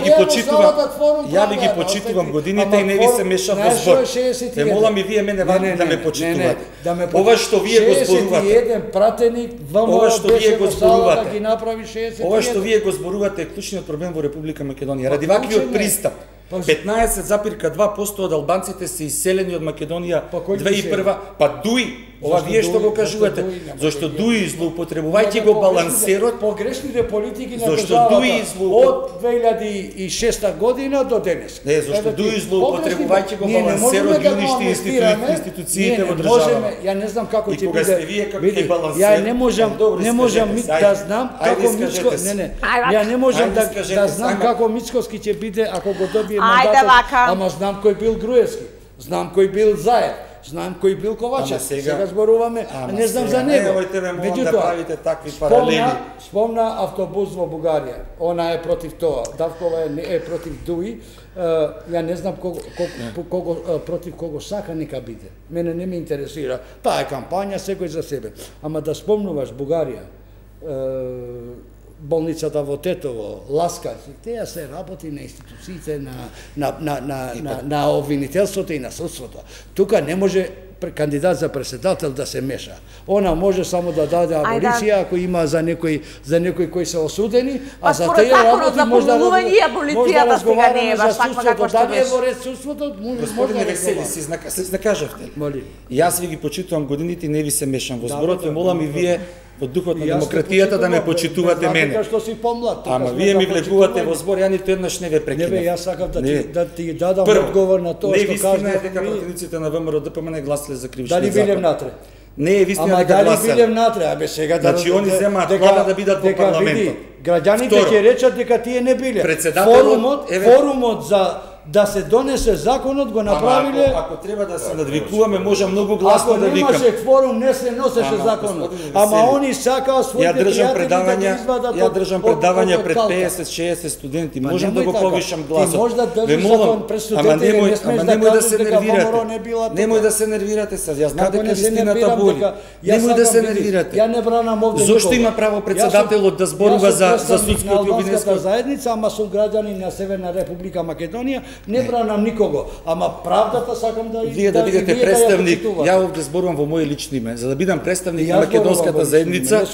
ви ги почитувам годините и не ви се мешам во збор. Те молам и вие мене да ме почитувате. Ова што вие го зборувате. 61 пратеник ова што вие го зборувате. Ги направи 61. Ова што вие го зборувате е клучниот проблем во Република Македонија. Ради ваквиот пристап 15,2% од албанците се иселени од Македонија 2001, па дуи. Ова вие што го кажувате, зашто дуи злоупотребувајќи го балансерот, погрешните политики на државата од 2006 година до денес. Не, зашто дуи злоупотребувајќи го балансерот ги уништи институциите во државата. Ја не знам како ќе биде. Ја не можам да знам како Мицко, ја не можам да знам како Мицковски ќе биде ако го добие мандатот, ама знам кој бил Груевски, знам кој бил Заев, Знаем кој бил Ковачев. Сега зборуваме, не знам за него. Немојте ме молам да правите такви паралели. Спомна автобус во Бугарија. Она е против тоа. Давкова е против Дуи. Ја не знам против кого сака нека биде. Мене не ме интересира. Таа е кампања, секој за себе. Ама да спомнуваш Бугарија, болницата во Тетово, Ласкарци, теја се работи на институциите на обвинителството и на судството. Тука не може кандидат за председател да се меша. Она може само да даде аболиција ако има за некои кои се осудени, а за тие работи може да аболицијата сега не е баш таква како што беше. Дали е во ред судството, Господине Весели, се знакажавте. Јас ви ги почитувам годините и не ви се мешам во зборот, ве молам и вие во духот на демократијата да ме почитувате мене. Што си помлад. Ама вие ми влегувате во збор, ја ниту еднаш не ве прекинав. Не бе, јас сакам да ти дадам одговор на тоа што кажа. Не, вистина е дека противниците на ВМРО ДПМН не гласале за кривичниот закон. Дали билем натре? Не е вистина дека гласале. Ама дали билем натре? Абе сега да... Значи, они земаат плата да бидат во парламентот. Граѓаните ќе речат дека тие не биле. Форумот за да се донесе законот го направиле. Ако треба да се надвикуваме, може многу гласно да викам. Ако немаше кворум, не се носеше законот. Ама они сакаа своите пријатели да извадат. Ја држам предавања пред 50-60 студенти. Можам да го повишам гласот. Ти може да држиш закон пред студенти, не смеш да кажеш дека ВМРО не била. Немој да се нервирате сега. Јас знам дека вистината боли. Немој да се нервирате. Ја не бранам овде никого. Зошто има право председателот да зборува за судското и обвинителско заедница, ама сум граѓанин на Северна Република Македонија, не бранам никого, ама правдата сакам да вие да бидете представник. Ја овде зборувам во моје лично име, за да бидам представник на македонската заедница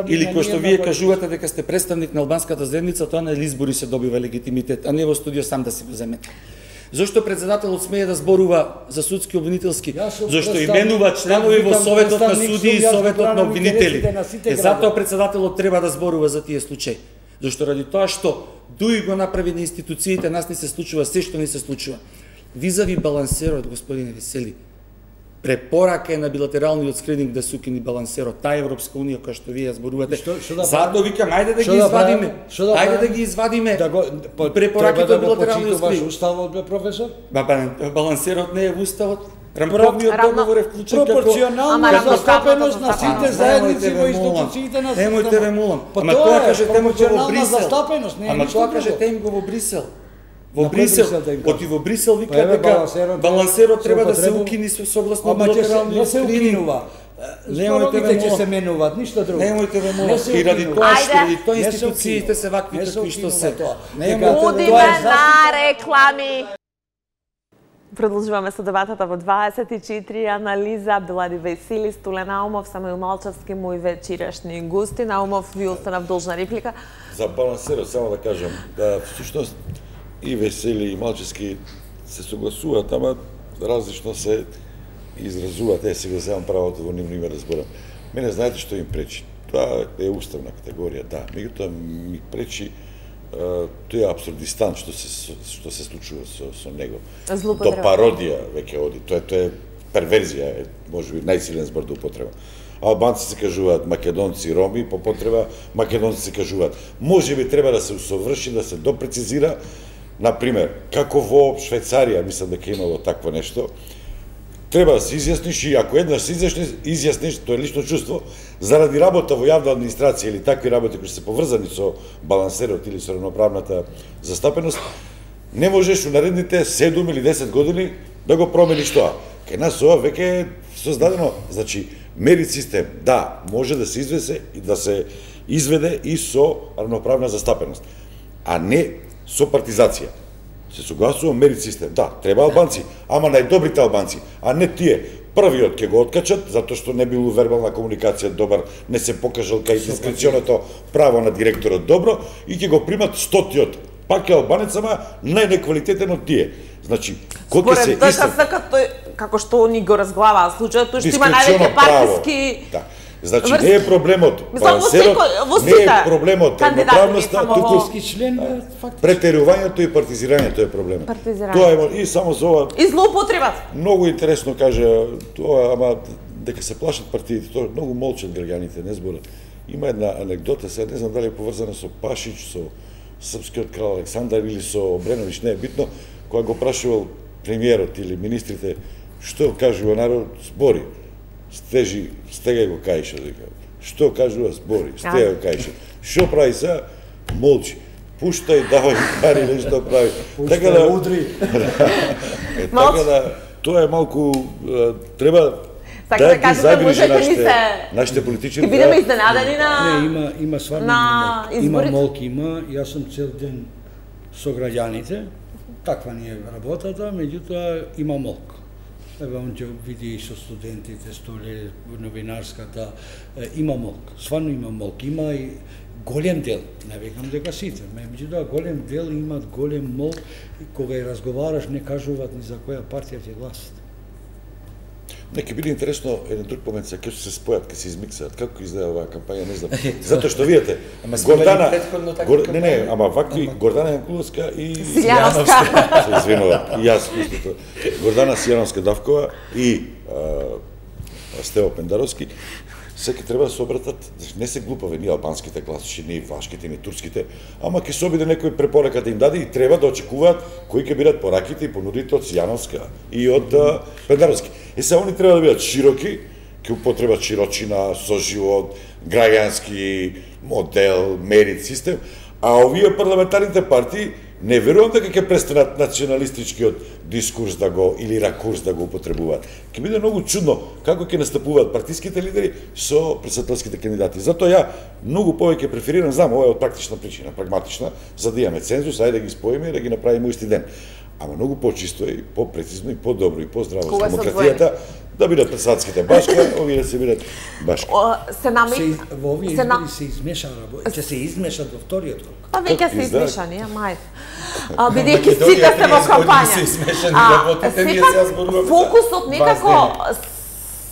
или кој што вие кажувате дека сте представник на албанската заедница, тоа на избори се добива легитимитет, а не во студио сам да си го земете. Зошто председателот смее да зборува за судски обвинителски? Зошто именува членови во Советот на суди и Советот на обвинители. Затоа председателот треба да зборува за тие случаи. Зашто ради тоа што Дуи го направи на институциите, нас не се случува се што не се случува. Визави балансерот, господине Весели, препорака е на билатералниот скрининг да се укини балансерот, таа Европска унија која што вие зборувате. Затоа викам, ајде да ги извадиме. Ајде да ги извадиме. Препораките од билатералниот скрининг. Уставот бе професор? Балансерот не е во уставот. Рамковниот договор е вклучен како пропорционална застапеност на сите заедници во институциите на системот. Немојте ве молам. Ама тоа кажете му во Брисел. Ама тоа кажете им го во Брисел. Во Брисел, оти во Брисел вика дека балансерот треба да се укини согласно билатералниот скрининг. Немојте ве ќе се менуваат, ништо друго. Немојте ве молам. И ради тоа институциите се вакви какви што се. Одиме на реклами. Продолжуваме со дебатата во 24 анализа. Белади Весели, Стулен Наумов, Самуил Малчевски, мои вечерашни гости. Наумов, ви останав должна реплика. За балансерот само да кажам, да всушност и Весели и Малчевски се согласуваат, ама различно се изразуваат. Се го земам правото во нивно име да зборам. Мене знаете што им пречи? Тоа е уставна категорија, да. Меѓутоа ми пречи тој абсурдистан што се случува со него. До пародија веќе оди. Тоа е перверзија, можеби најсилен збор до употреба. Албанци се кажуваат македонци, роми, по потреба македонци се кажуваат. Можеби треба да се усоврши, да се допрецизира, например, како во Швајцарија, мислам дека имало такво нешто, треба да се изјасниш и ако еднаш се изјасниш, тоа е лично чувство, заради работа во јавна администрација или такви работи кои се поврзани со балансерот или со равноправната застапеност, не можеш у наредните 7 или 10 години да го промениш тоа. Кај нас ова веќе е создадено, значи, мерит систем, да, може да се изведе и со равноправна застапеност, а не со партизација. Се согласувам, мерит систем. Да, треба албанци, ама најдобрите албанци, а не тие. Првиот ќе го откачат, затоа што не бил вербална комуникација добар, не се покажал кај дискреционото право на директорот добро, и ќе го примат 100-тиот. Пак е албанец, ама најнеквалитетен од тие. Значи, кој ќе се истреб... како што они го разглаваа случајот, тој што има највеќе партиски... Да. Значи, не е проблемот балансерот, не е проблемот равноправноста, туку претерувањето и партизирањето е проблемот. Тоа е и само за ова. И злоупотребата. Многу интересно каже тоа, ама дека се плашат партиите, тоа многу молчат граѓаните, не зборат. Има една анекдота, сега не знам дали е поврзана со Пашич, со српскиот крал Александар или со Обреновиќ, не е битно, кога го прашувал премиерот или министрите Што кажува народ, збори. Стега го каиша, дека. Што кажува, збори, стега го каиша. Што прави сега? Молчи. Пуштај, давај пари, нешто прави. Така да удри. Така да тоа е малку треба да ги загрижи нашите политичари. Ќе бидеме изненадени на Не, има стварно има молки, има. Јас сум цел ден со граѓаните. Таква ни е работата, меѓутоа има молк. Еве он ќе види и со студентите, столе новинарската, има молк. Стварно има молк, има и голем дел, не викам дека сите, меѓутоа голем дел имат голем молк, кога ја разговараш не кажуваат ни за која партија ќе гласат. Не, ќе биде интересно еден друг момент, ќе се спојат, ќе се измиксаат, како изгледа оваа кампања, не знам. Затоа што видите, Гордана, ама вакви Гордана Јанкуловска и Сијановска. Се извинувам, и јас истото. Гордана Сијановска-Давкова и Стево Пендаровски, секи треба да се обратат, не се глупави ни албанските гласачи, ни влашките, ни турските, ама ќе се обиде некој препорака да им даде и треба да очекуваат кои ќе бидат пораките и понудите од Сијановска и од Пендаровски. И сега они треба да бидат широки, ќе употребат широчина, соживот, граѓански модел, мерит систем, а овие парламентарните партии не верувам дека ќе престанат националистичкиот дискурс да го или ракурс да го употребуваат. Ќе биде многу чудно како ќе настапуваат партиските лидери со претседателските кандидати. Затоа ја многу повеќе преферирам, знам, ова е од практична причина, прагматична, за да имаме цензус, ајде да ги споиме и да ги направиме исти ден. Ама многу почисто и по-прецизно и по-добро и по-здраво за демократијата да бидат председателските башка, овие да се бидат башка. Во овие избори се измеша, ќе се измешат во вториот круг. Па веќе се измешани, мај. Бидејќи сите се во кампања. Фокусот некако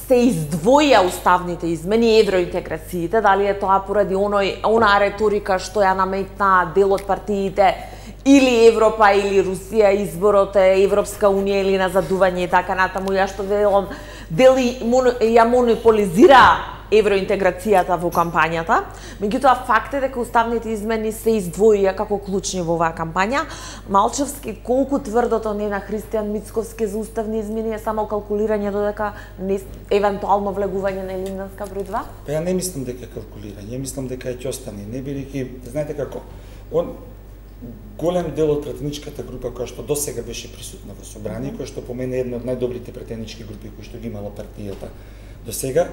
се издвоја уставните измени, евроинтеграциите, дали е тоа поради онаа реторика што ја наметна дел од партиите, или Европа, или Русија, изборот е Европска Унија или назадување и така натаму, ја што велам, дели ја монополизира евроинтеграцијата во кампањата. Меѓутоа, факт е дека уставните измени се издвоија како клучни во оваа кампања. Малчевски, колку тврдото не на Христијан Мицковски за уставни измени е само калкулирање додека евентуално влегување на Илинденска број 2? Па ја не мислам дека е калкулирање, ја мислам дека ќе остане. Не бидејќи, знаете како, голем дел од претеничката група која што досега беше присутна во собрание, која што по мене е една од најдобрите претенички групи кои што ги имала партијата досега,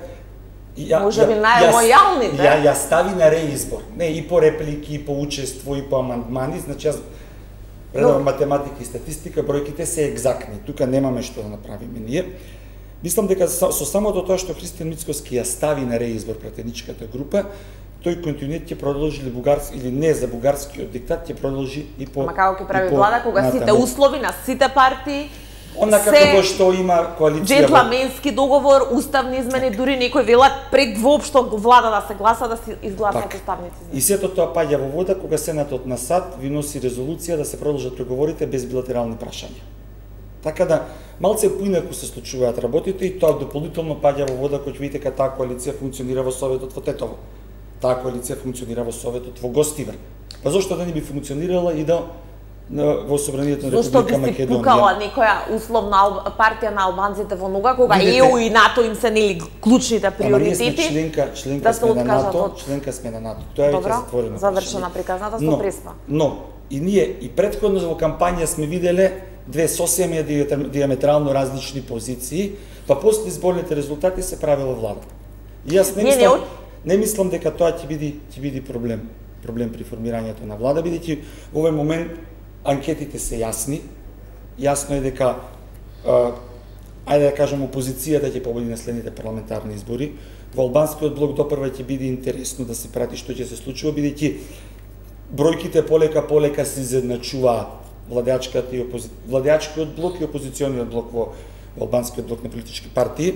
може би најлојалните. Ја стави на реизбор. Не, и по реплики, и по учество, и по амандмани, значи јас предавам математика и статистика, бројките се екзактни. Тука немаме што да направиме ние. Мислам дека со самото тоа што Христијан Мицковски ја стави на реизбор претеничката група, тој континуитет ќе продолжи или не за бугарскиот диктат ќе продолжи и по. Ама како ќе прави влада кога сите услови на сите партии онака како што има коалиција. Джентламенски договор, уставни измени, дури некој велат пред воопшто влада да се гласа да се изгласат уставните измени. И сето тоа паѓа во вода кога Сенатот на САД ви носи резолуција да се продолжат преговорите без билатерални прашања. Така да малце поинаку се случуваат работите и тоа дополнително паѓа во вода кој видите дека таа коалиција функционира во Советот во Тетово. Таа коалиција функционира во Советот во Гостивар. Па зошто да не би функционирала и да во собранието на Република Македонија? Зошто би се пукала некоја условна партија на албанците во нога кога ЕУ и НАТО им се нели клучните приоритети? Членка сме на НАТО, членка сме на НАТО. Тоа е веќе затворено. Завршена приказната со преспа. Но и ние и претходно во кампања сме виделе две сосем диаметрално различни позиции, па после изборните резултати се правила влада. И јас не мислам дека тоа ќе биде проблем при формирањето на влада, бидејќи во овој момент анкетите се јасни. Јасно е дека ајде да кажам опозицијата ќе победи на следните парламентарни избори. Во албанскиот блок допрва ќе биде интересно да се прати што ќе се случува, бидејќи бројките полека се изедначуваат владеачкиот блок и опозициониот блок во албанскиот блок на политички партии.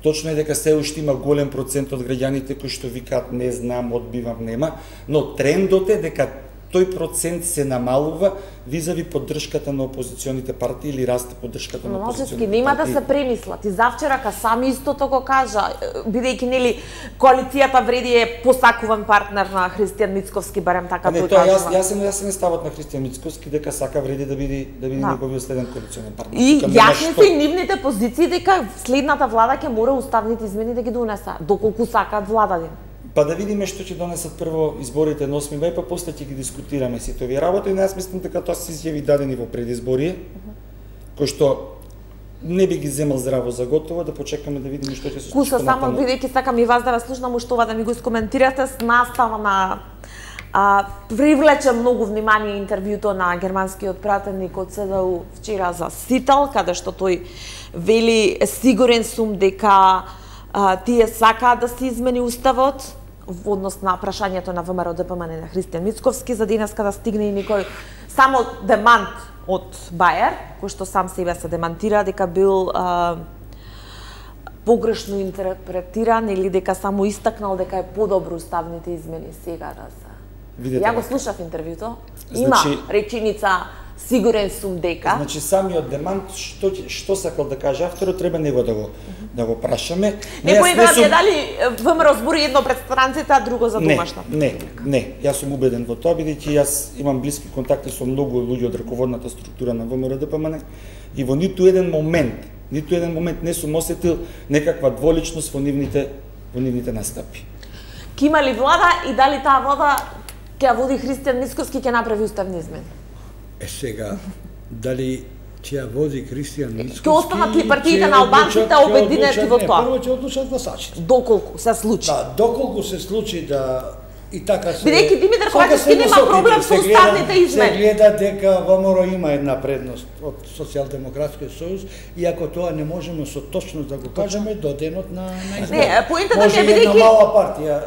Точно е дека се уште има голем процент од граѓаните кои што викаат не знам, одбивам, нема, но трендот е дека тој процент се намалува визави поддршката на опозиционите партии или расте поддршката на опозиционите партии. Нема да се премислат. И завчерака сами истото го кажа, бидејќи нели коалицијата вреди е посакуван партнер на Христијан Мицковски, барем така тој кажува. Јасен е ставот на Христијан Мицковски дека сака вреди да биде неговиот следен коалиционен партнер. И јасни се и нивните позиции дека следната влада ќе мора уставните измени да ги донеса, доколку сакаат влададин. Па да видиме што ќе донесат прво изборите на 8 мај, па после ќе ги дискутираме сите овие работи. Јас мислам дека тоа се изјави дадени во предизборие, кој што не би ги земал здраво за готово, да почекаме да видиме што ќе се случи. Куса само бидејќи сакам и вас да ве слушнам уште ова да ми го искоментирате с настава на привлече многу внимание интервјуто на германскиот пратеник од ЦДУ вчера за Сител, каде што тој вели сигурен сум дека тие сакаат да се измени уставот во однос на прашањето на ВМРО ДПМН на Христијан Мицковски, за денеска да стигне и некој само демант од Бајер, кој што сам себе се демантира дека бил погрешно интерпретиран или дека само истакнал дека е подобро уставните измени сега да се. Ја го слушав интервјуто. Има реченица сигурен сум дека. Значи самиот демант што сакал да каже авторот треба него да го прашаме. Некои веќе дали ВМРО збори едно пред странците, а друго за домашно. Не, јас сум убеден во тоа бидејќи јас имам блиски контакти со многу луѓе од раководната структура на ВМРО ДПМН и во ниту еден момент не сум осетил некаква дволичност во нивните настапи. Ке има ли влада и дали таа влада ќе ја води Христијан Мицковски ќе направи уставни измени? Сега, дали ќе ја води Христијан Мицковски? Ќе останат ли партиите на албанците обединети во тоа? Прво ќе одлучат гласачите. Доколку се случи. Да, доколку се случи да и така се. Бидејќи Димитар Ковачевски нема проблем со уставните измени. Се гледа дека ВМРО има една предност од Социјалдемократскиот сојуз, иако тоа не можеме со точност да го кажеме до денот на избори. Не, поентата ми е бидејќи една мала партија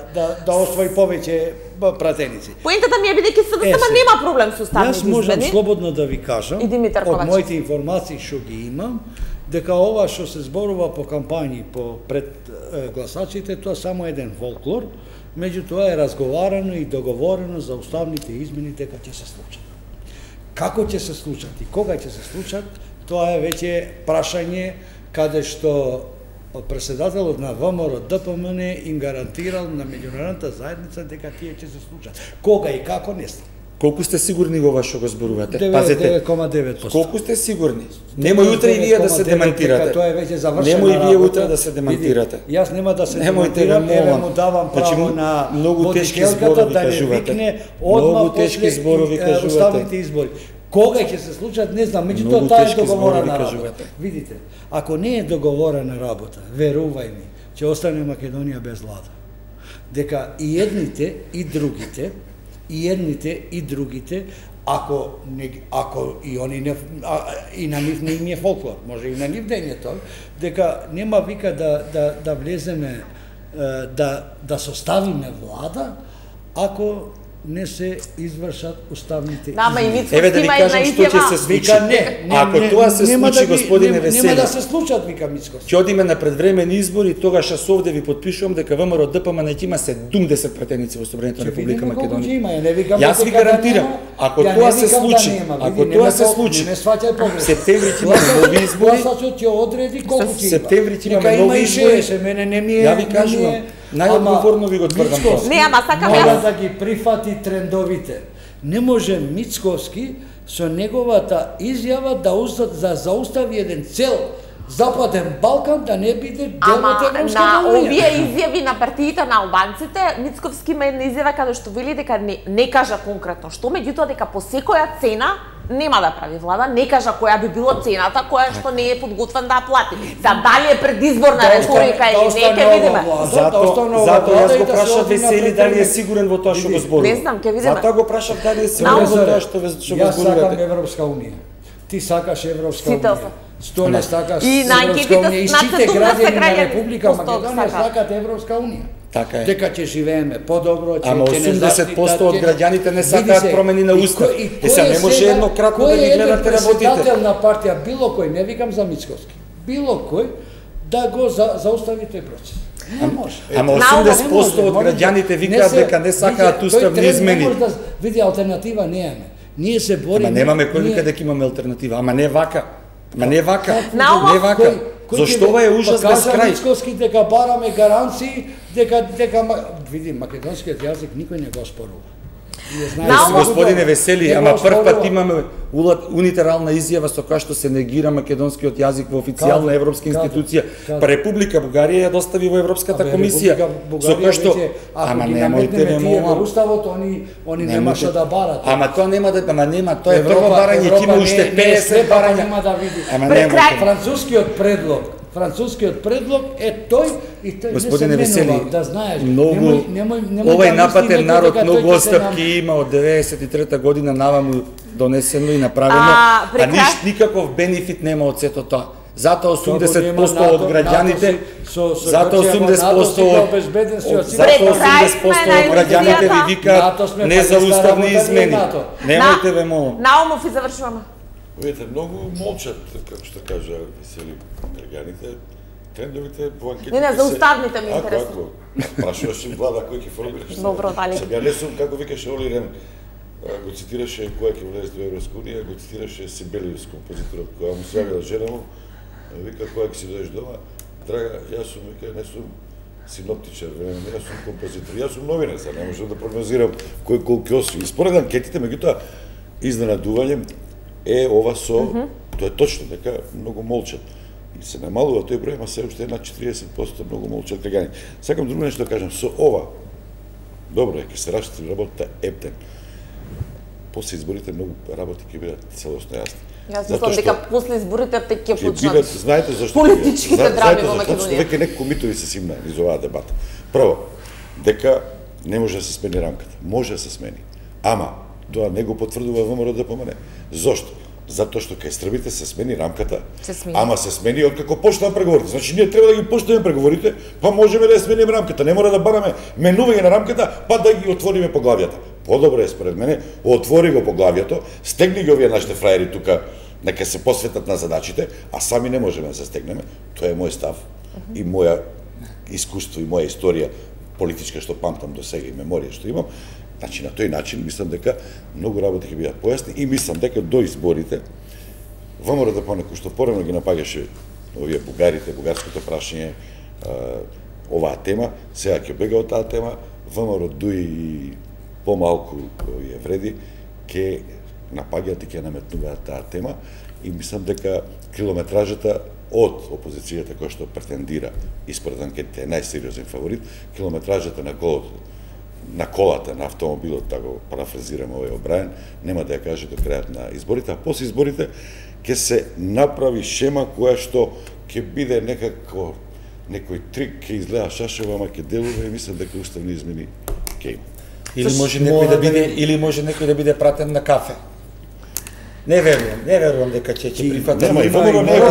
да освои повеќе пратеници. Поентата ми е бидејќи СДСМ нема проблем со уставните измени. Јас можам слободно да ви кажам од моите информации што ги имам, дека ова што се зборува по кампањи пред гласачите, тоа само еден фолклор. Меѓутоа е разговарано и договорено за уставните измени дека ќе се случат. Како ќе се случат и кога ќе се случат, тоа е веќе прашање каде што председателот на ВМРО ДПМН им гарантирал на меѓународната заедница дека тие ќе се случат. Кога и како не знам. Колку сте сигурни во ова што го зборувате? 9,9%. Колку сте сигурни? Немој утре и вие да се демантирате. Тоа е веќе завршена работа. Немој вие утре да се демантирате. Јас нема да се демантирам, еве му давам право на многу тешки зборови кажувате. Многу тешки зборови кажувате. Уставните избори. Кога ќе се случат, не знам, меѓутоа таа е договорена работа. Видите, ако не е договорена работа, верувај ми, ќе остане Македонија без влада. Дека и едните и другите ако и они не и на нив не им е фолклор, може и на нив да е тоа, дека нема вика да влеземе да составиме влада ако не се извршат уставните измени. Еве да ви кажам што ќе се случи. Ако тоа се случи, господине Весели, нема да се случат, вика Мицковски. Ќе одиме на предвремени избори, тогаш јас овде ви потпишувам дека ВМРО ДПМН ќе има 70 пратеници во Собранието на Република Македонија. Јас ви гарантирам, ако тоа се случи, септември ќе имаме нови избори. Гласачот ќе одреди колку ќе има. Септември ќе имаме нови избори. Мене не ми е. Ја ви кажувам, најодговорно ви го тврдам тоа. Не, ама сакам мора да ги прифати трендовите. Не може Мицковски со неговата изјава да заустави еден цел Западен Балкан да не биде дел од Европска на унија. овие изјави на партиите на албанците, Мицковски има една изјава каде што вели дека не кажа конкретно што, меѓутоа дека по секоја цена нема да прави влада, не кажа која би било цената, која што не е подготвен да ја плати. За дали е предизборна реторика или не, ќе видиме. Затоа јас го прашав Весели дали е сигурен во тоа што го зборува. Не знам, ќе видиме. Затоа го прашав дали е сигурен во тоа што го зборувате. Јас сакам Европска унија. Ти сакаш Европска унија. Столе сакаш и на анкетите и сите граѓани на Република Македонија сакат Европска унија. Така е. Дека ќе живееме подобро, ќе ама 80% од граѓаните не сакаат промени на устав. Сега не може еднократно да ги гледате работите. Кој е председател на партија, било кој, не викам за Мицковски, било кој да го заустави тој процес. Не може. Ама 80% од граѓаните викаат дека не сакаат уставни измени. Не може да види алтернатива немаме. Ние се бориме. Ама немаме кој вика дека имаме алтернатива, ама не вака. Ама не вака. Наумов, Не вака. Зошто ова е ужас без крај? Мицковски дека бараме гаранции, дека види македонскиот јазик никој не го спорува. Господине Весели, ама прв пат имаме унитерална изјава со која што се негира македонскиот јазик во официјална европска институција. Па Република Бугарија ја достави во Европската комисија. Со која што ама немојте ме молам. Уставот они немаше да барат. Ама тоа нема да, ама нема, тоа е прво барање, ќе има уште 50 барања. Нема да види. Ама немојте. Францускиот предлог е тој и тој Господине не се Весели, менува, да знаеш. многу овај напатен народ многу отстапки има од 93-та година наваму донесено и направено, никаков бенефит нема од сето тоа. Затоа 80% од граѓаните, затоа 80% од граѓаните ви викаат не за уставни измени. Немојте ве молам. Наумов и завршуваме. Видите, многу молчат, како што кажа Весели, граѓаните. Трендовите по анкетите Не, за уставните ми интересно. Ако прашуваш им влада кој ќе формираш. Добро, дали. Сега не сум, како викаше Оли Рен, го цитираше кој ќе влезе во Европска унија, го цитираше Сибелиус, композиторот, која му се јавила жена му, вика која ќе си дојдеш дома, драга, јас сум, вика, не сум синоптичар, јас сум композитор, јас сум новинар, не можам да прогнозирам кој колку осви. И според анкетите, меѓутоа, изненадување е ова со, тоа е точно, дека многу молчат. И се намалува тој број, ама се уште на 40% многу молчат граѓани. Сакам друго нешто да кажам, со ова, добро е, ќе се раштити работата ептен. После изборите многу работи ќе бидат целосно јасни. Јас мислам дека после изборите ќе почнат. Знаете зашто? Политичките драми во Македонија. Веќе неколку митови се симна низ оваа дебата. Прво, дека не може да се смени рамката. Може да се смени. Ама тоа не го потврдува ВМРО ДПМН. Зошто? Затоа што кај србите се смени рамката, ама се смени откако почнаа преговорите. Значи ние треба да ги почнеме преговорите, па можеме да ја смениме рамката. Не мора да бараме менување на рамката, па да ги отвориме поглавјата. Подобро е според мене, отвори го поглавјето, стегни ги овие нашите фраери тука, нека се посветат на задачите, а сами не можеме да се стегнеме. Тоа е мој став и моја искуство и моја историја политичка што памтам до сега и меморија што имам. Значи, на тој начин, мислам дека многу работи ќе бидат појасни и мислам дека до изборите ВМРО ДПМН, кој што порано ги напагаше овие бугарите, бугарското прашање, оваа тема, сега ќе бега од таа тема, ВМРО дуи и помалку овие вреди, ќе напаѓаат и ќе наметнуваат таа тема и мислам дека километражата од опозицијата која што претендира и според анкетите е најсериозен фаворит, километражата на колата, на автомобилот, да го парафразираме овој Обрајан, нема да ја каже до крајот на изборите, а после изборите ќе се направи шема која што ќе биде некако некој трик, ќе изгледа шашево, ама ќе делува и мислам дека уставни измени ќе има. Или може некој да биде пратен на кафе. Не верувам дека ќе прифатат. Нема, и ВМРО не е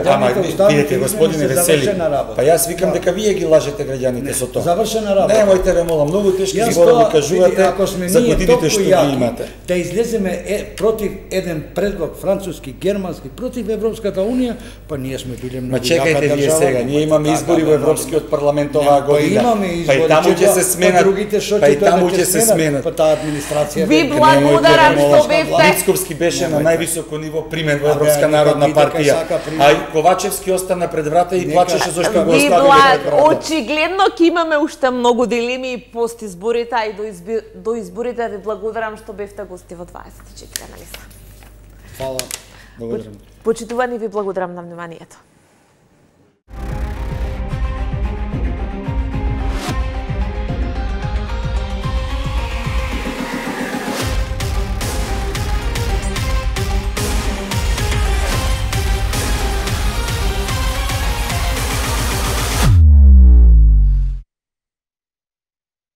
Ама видите, господине Весели, па јас викам дека вие ги лажете граѓаните со тоа. Завршена работа. Немојте ве молам, многу тешки зборови кажувате за годините што ги имате. Да излеземе против еден предлог француски, германски, против Европската унија, па ние сме биле многу. Ма чекајте вие сега, ние имаме избори во Европскиот парламент оваа година. Па и таму ќе се сменат. Па и таму ќе се сменат. Па таа администрација. Ви благодарам што бевте. Мицковски беше на највисоко ниво примен во Европска народна партија. А и Ковачевски остана пред врата и плачеше зашто го оставиле пред врата. Очигледно ќе имаме уште многу дилеми и пост изборите, а и до изборите. Ви благодарам што бевте гости во 24 анализа. Фала. Благодарам. Почитувани, ви благодарам на вниманието.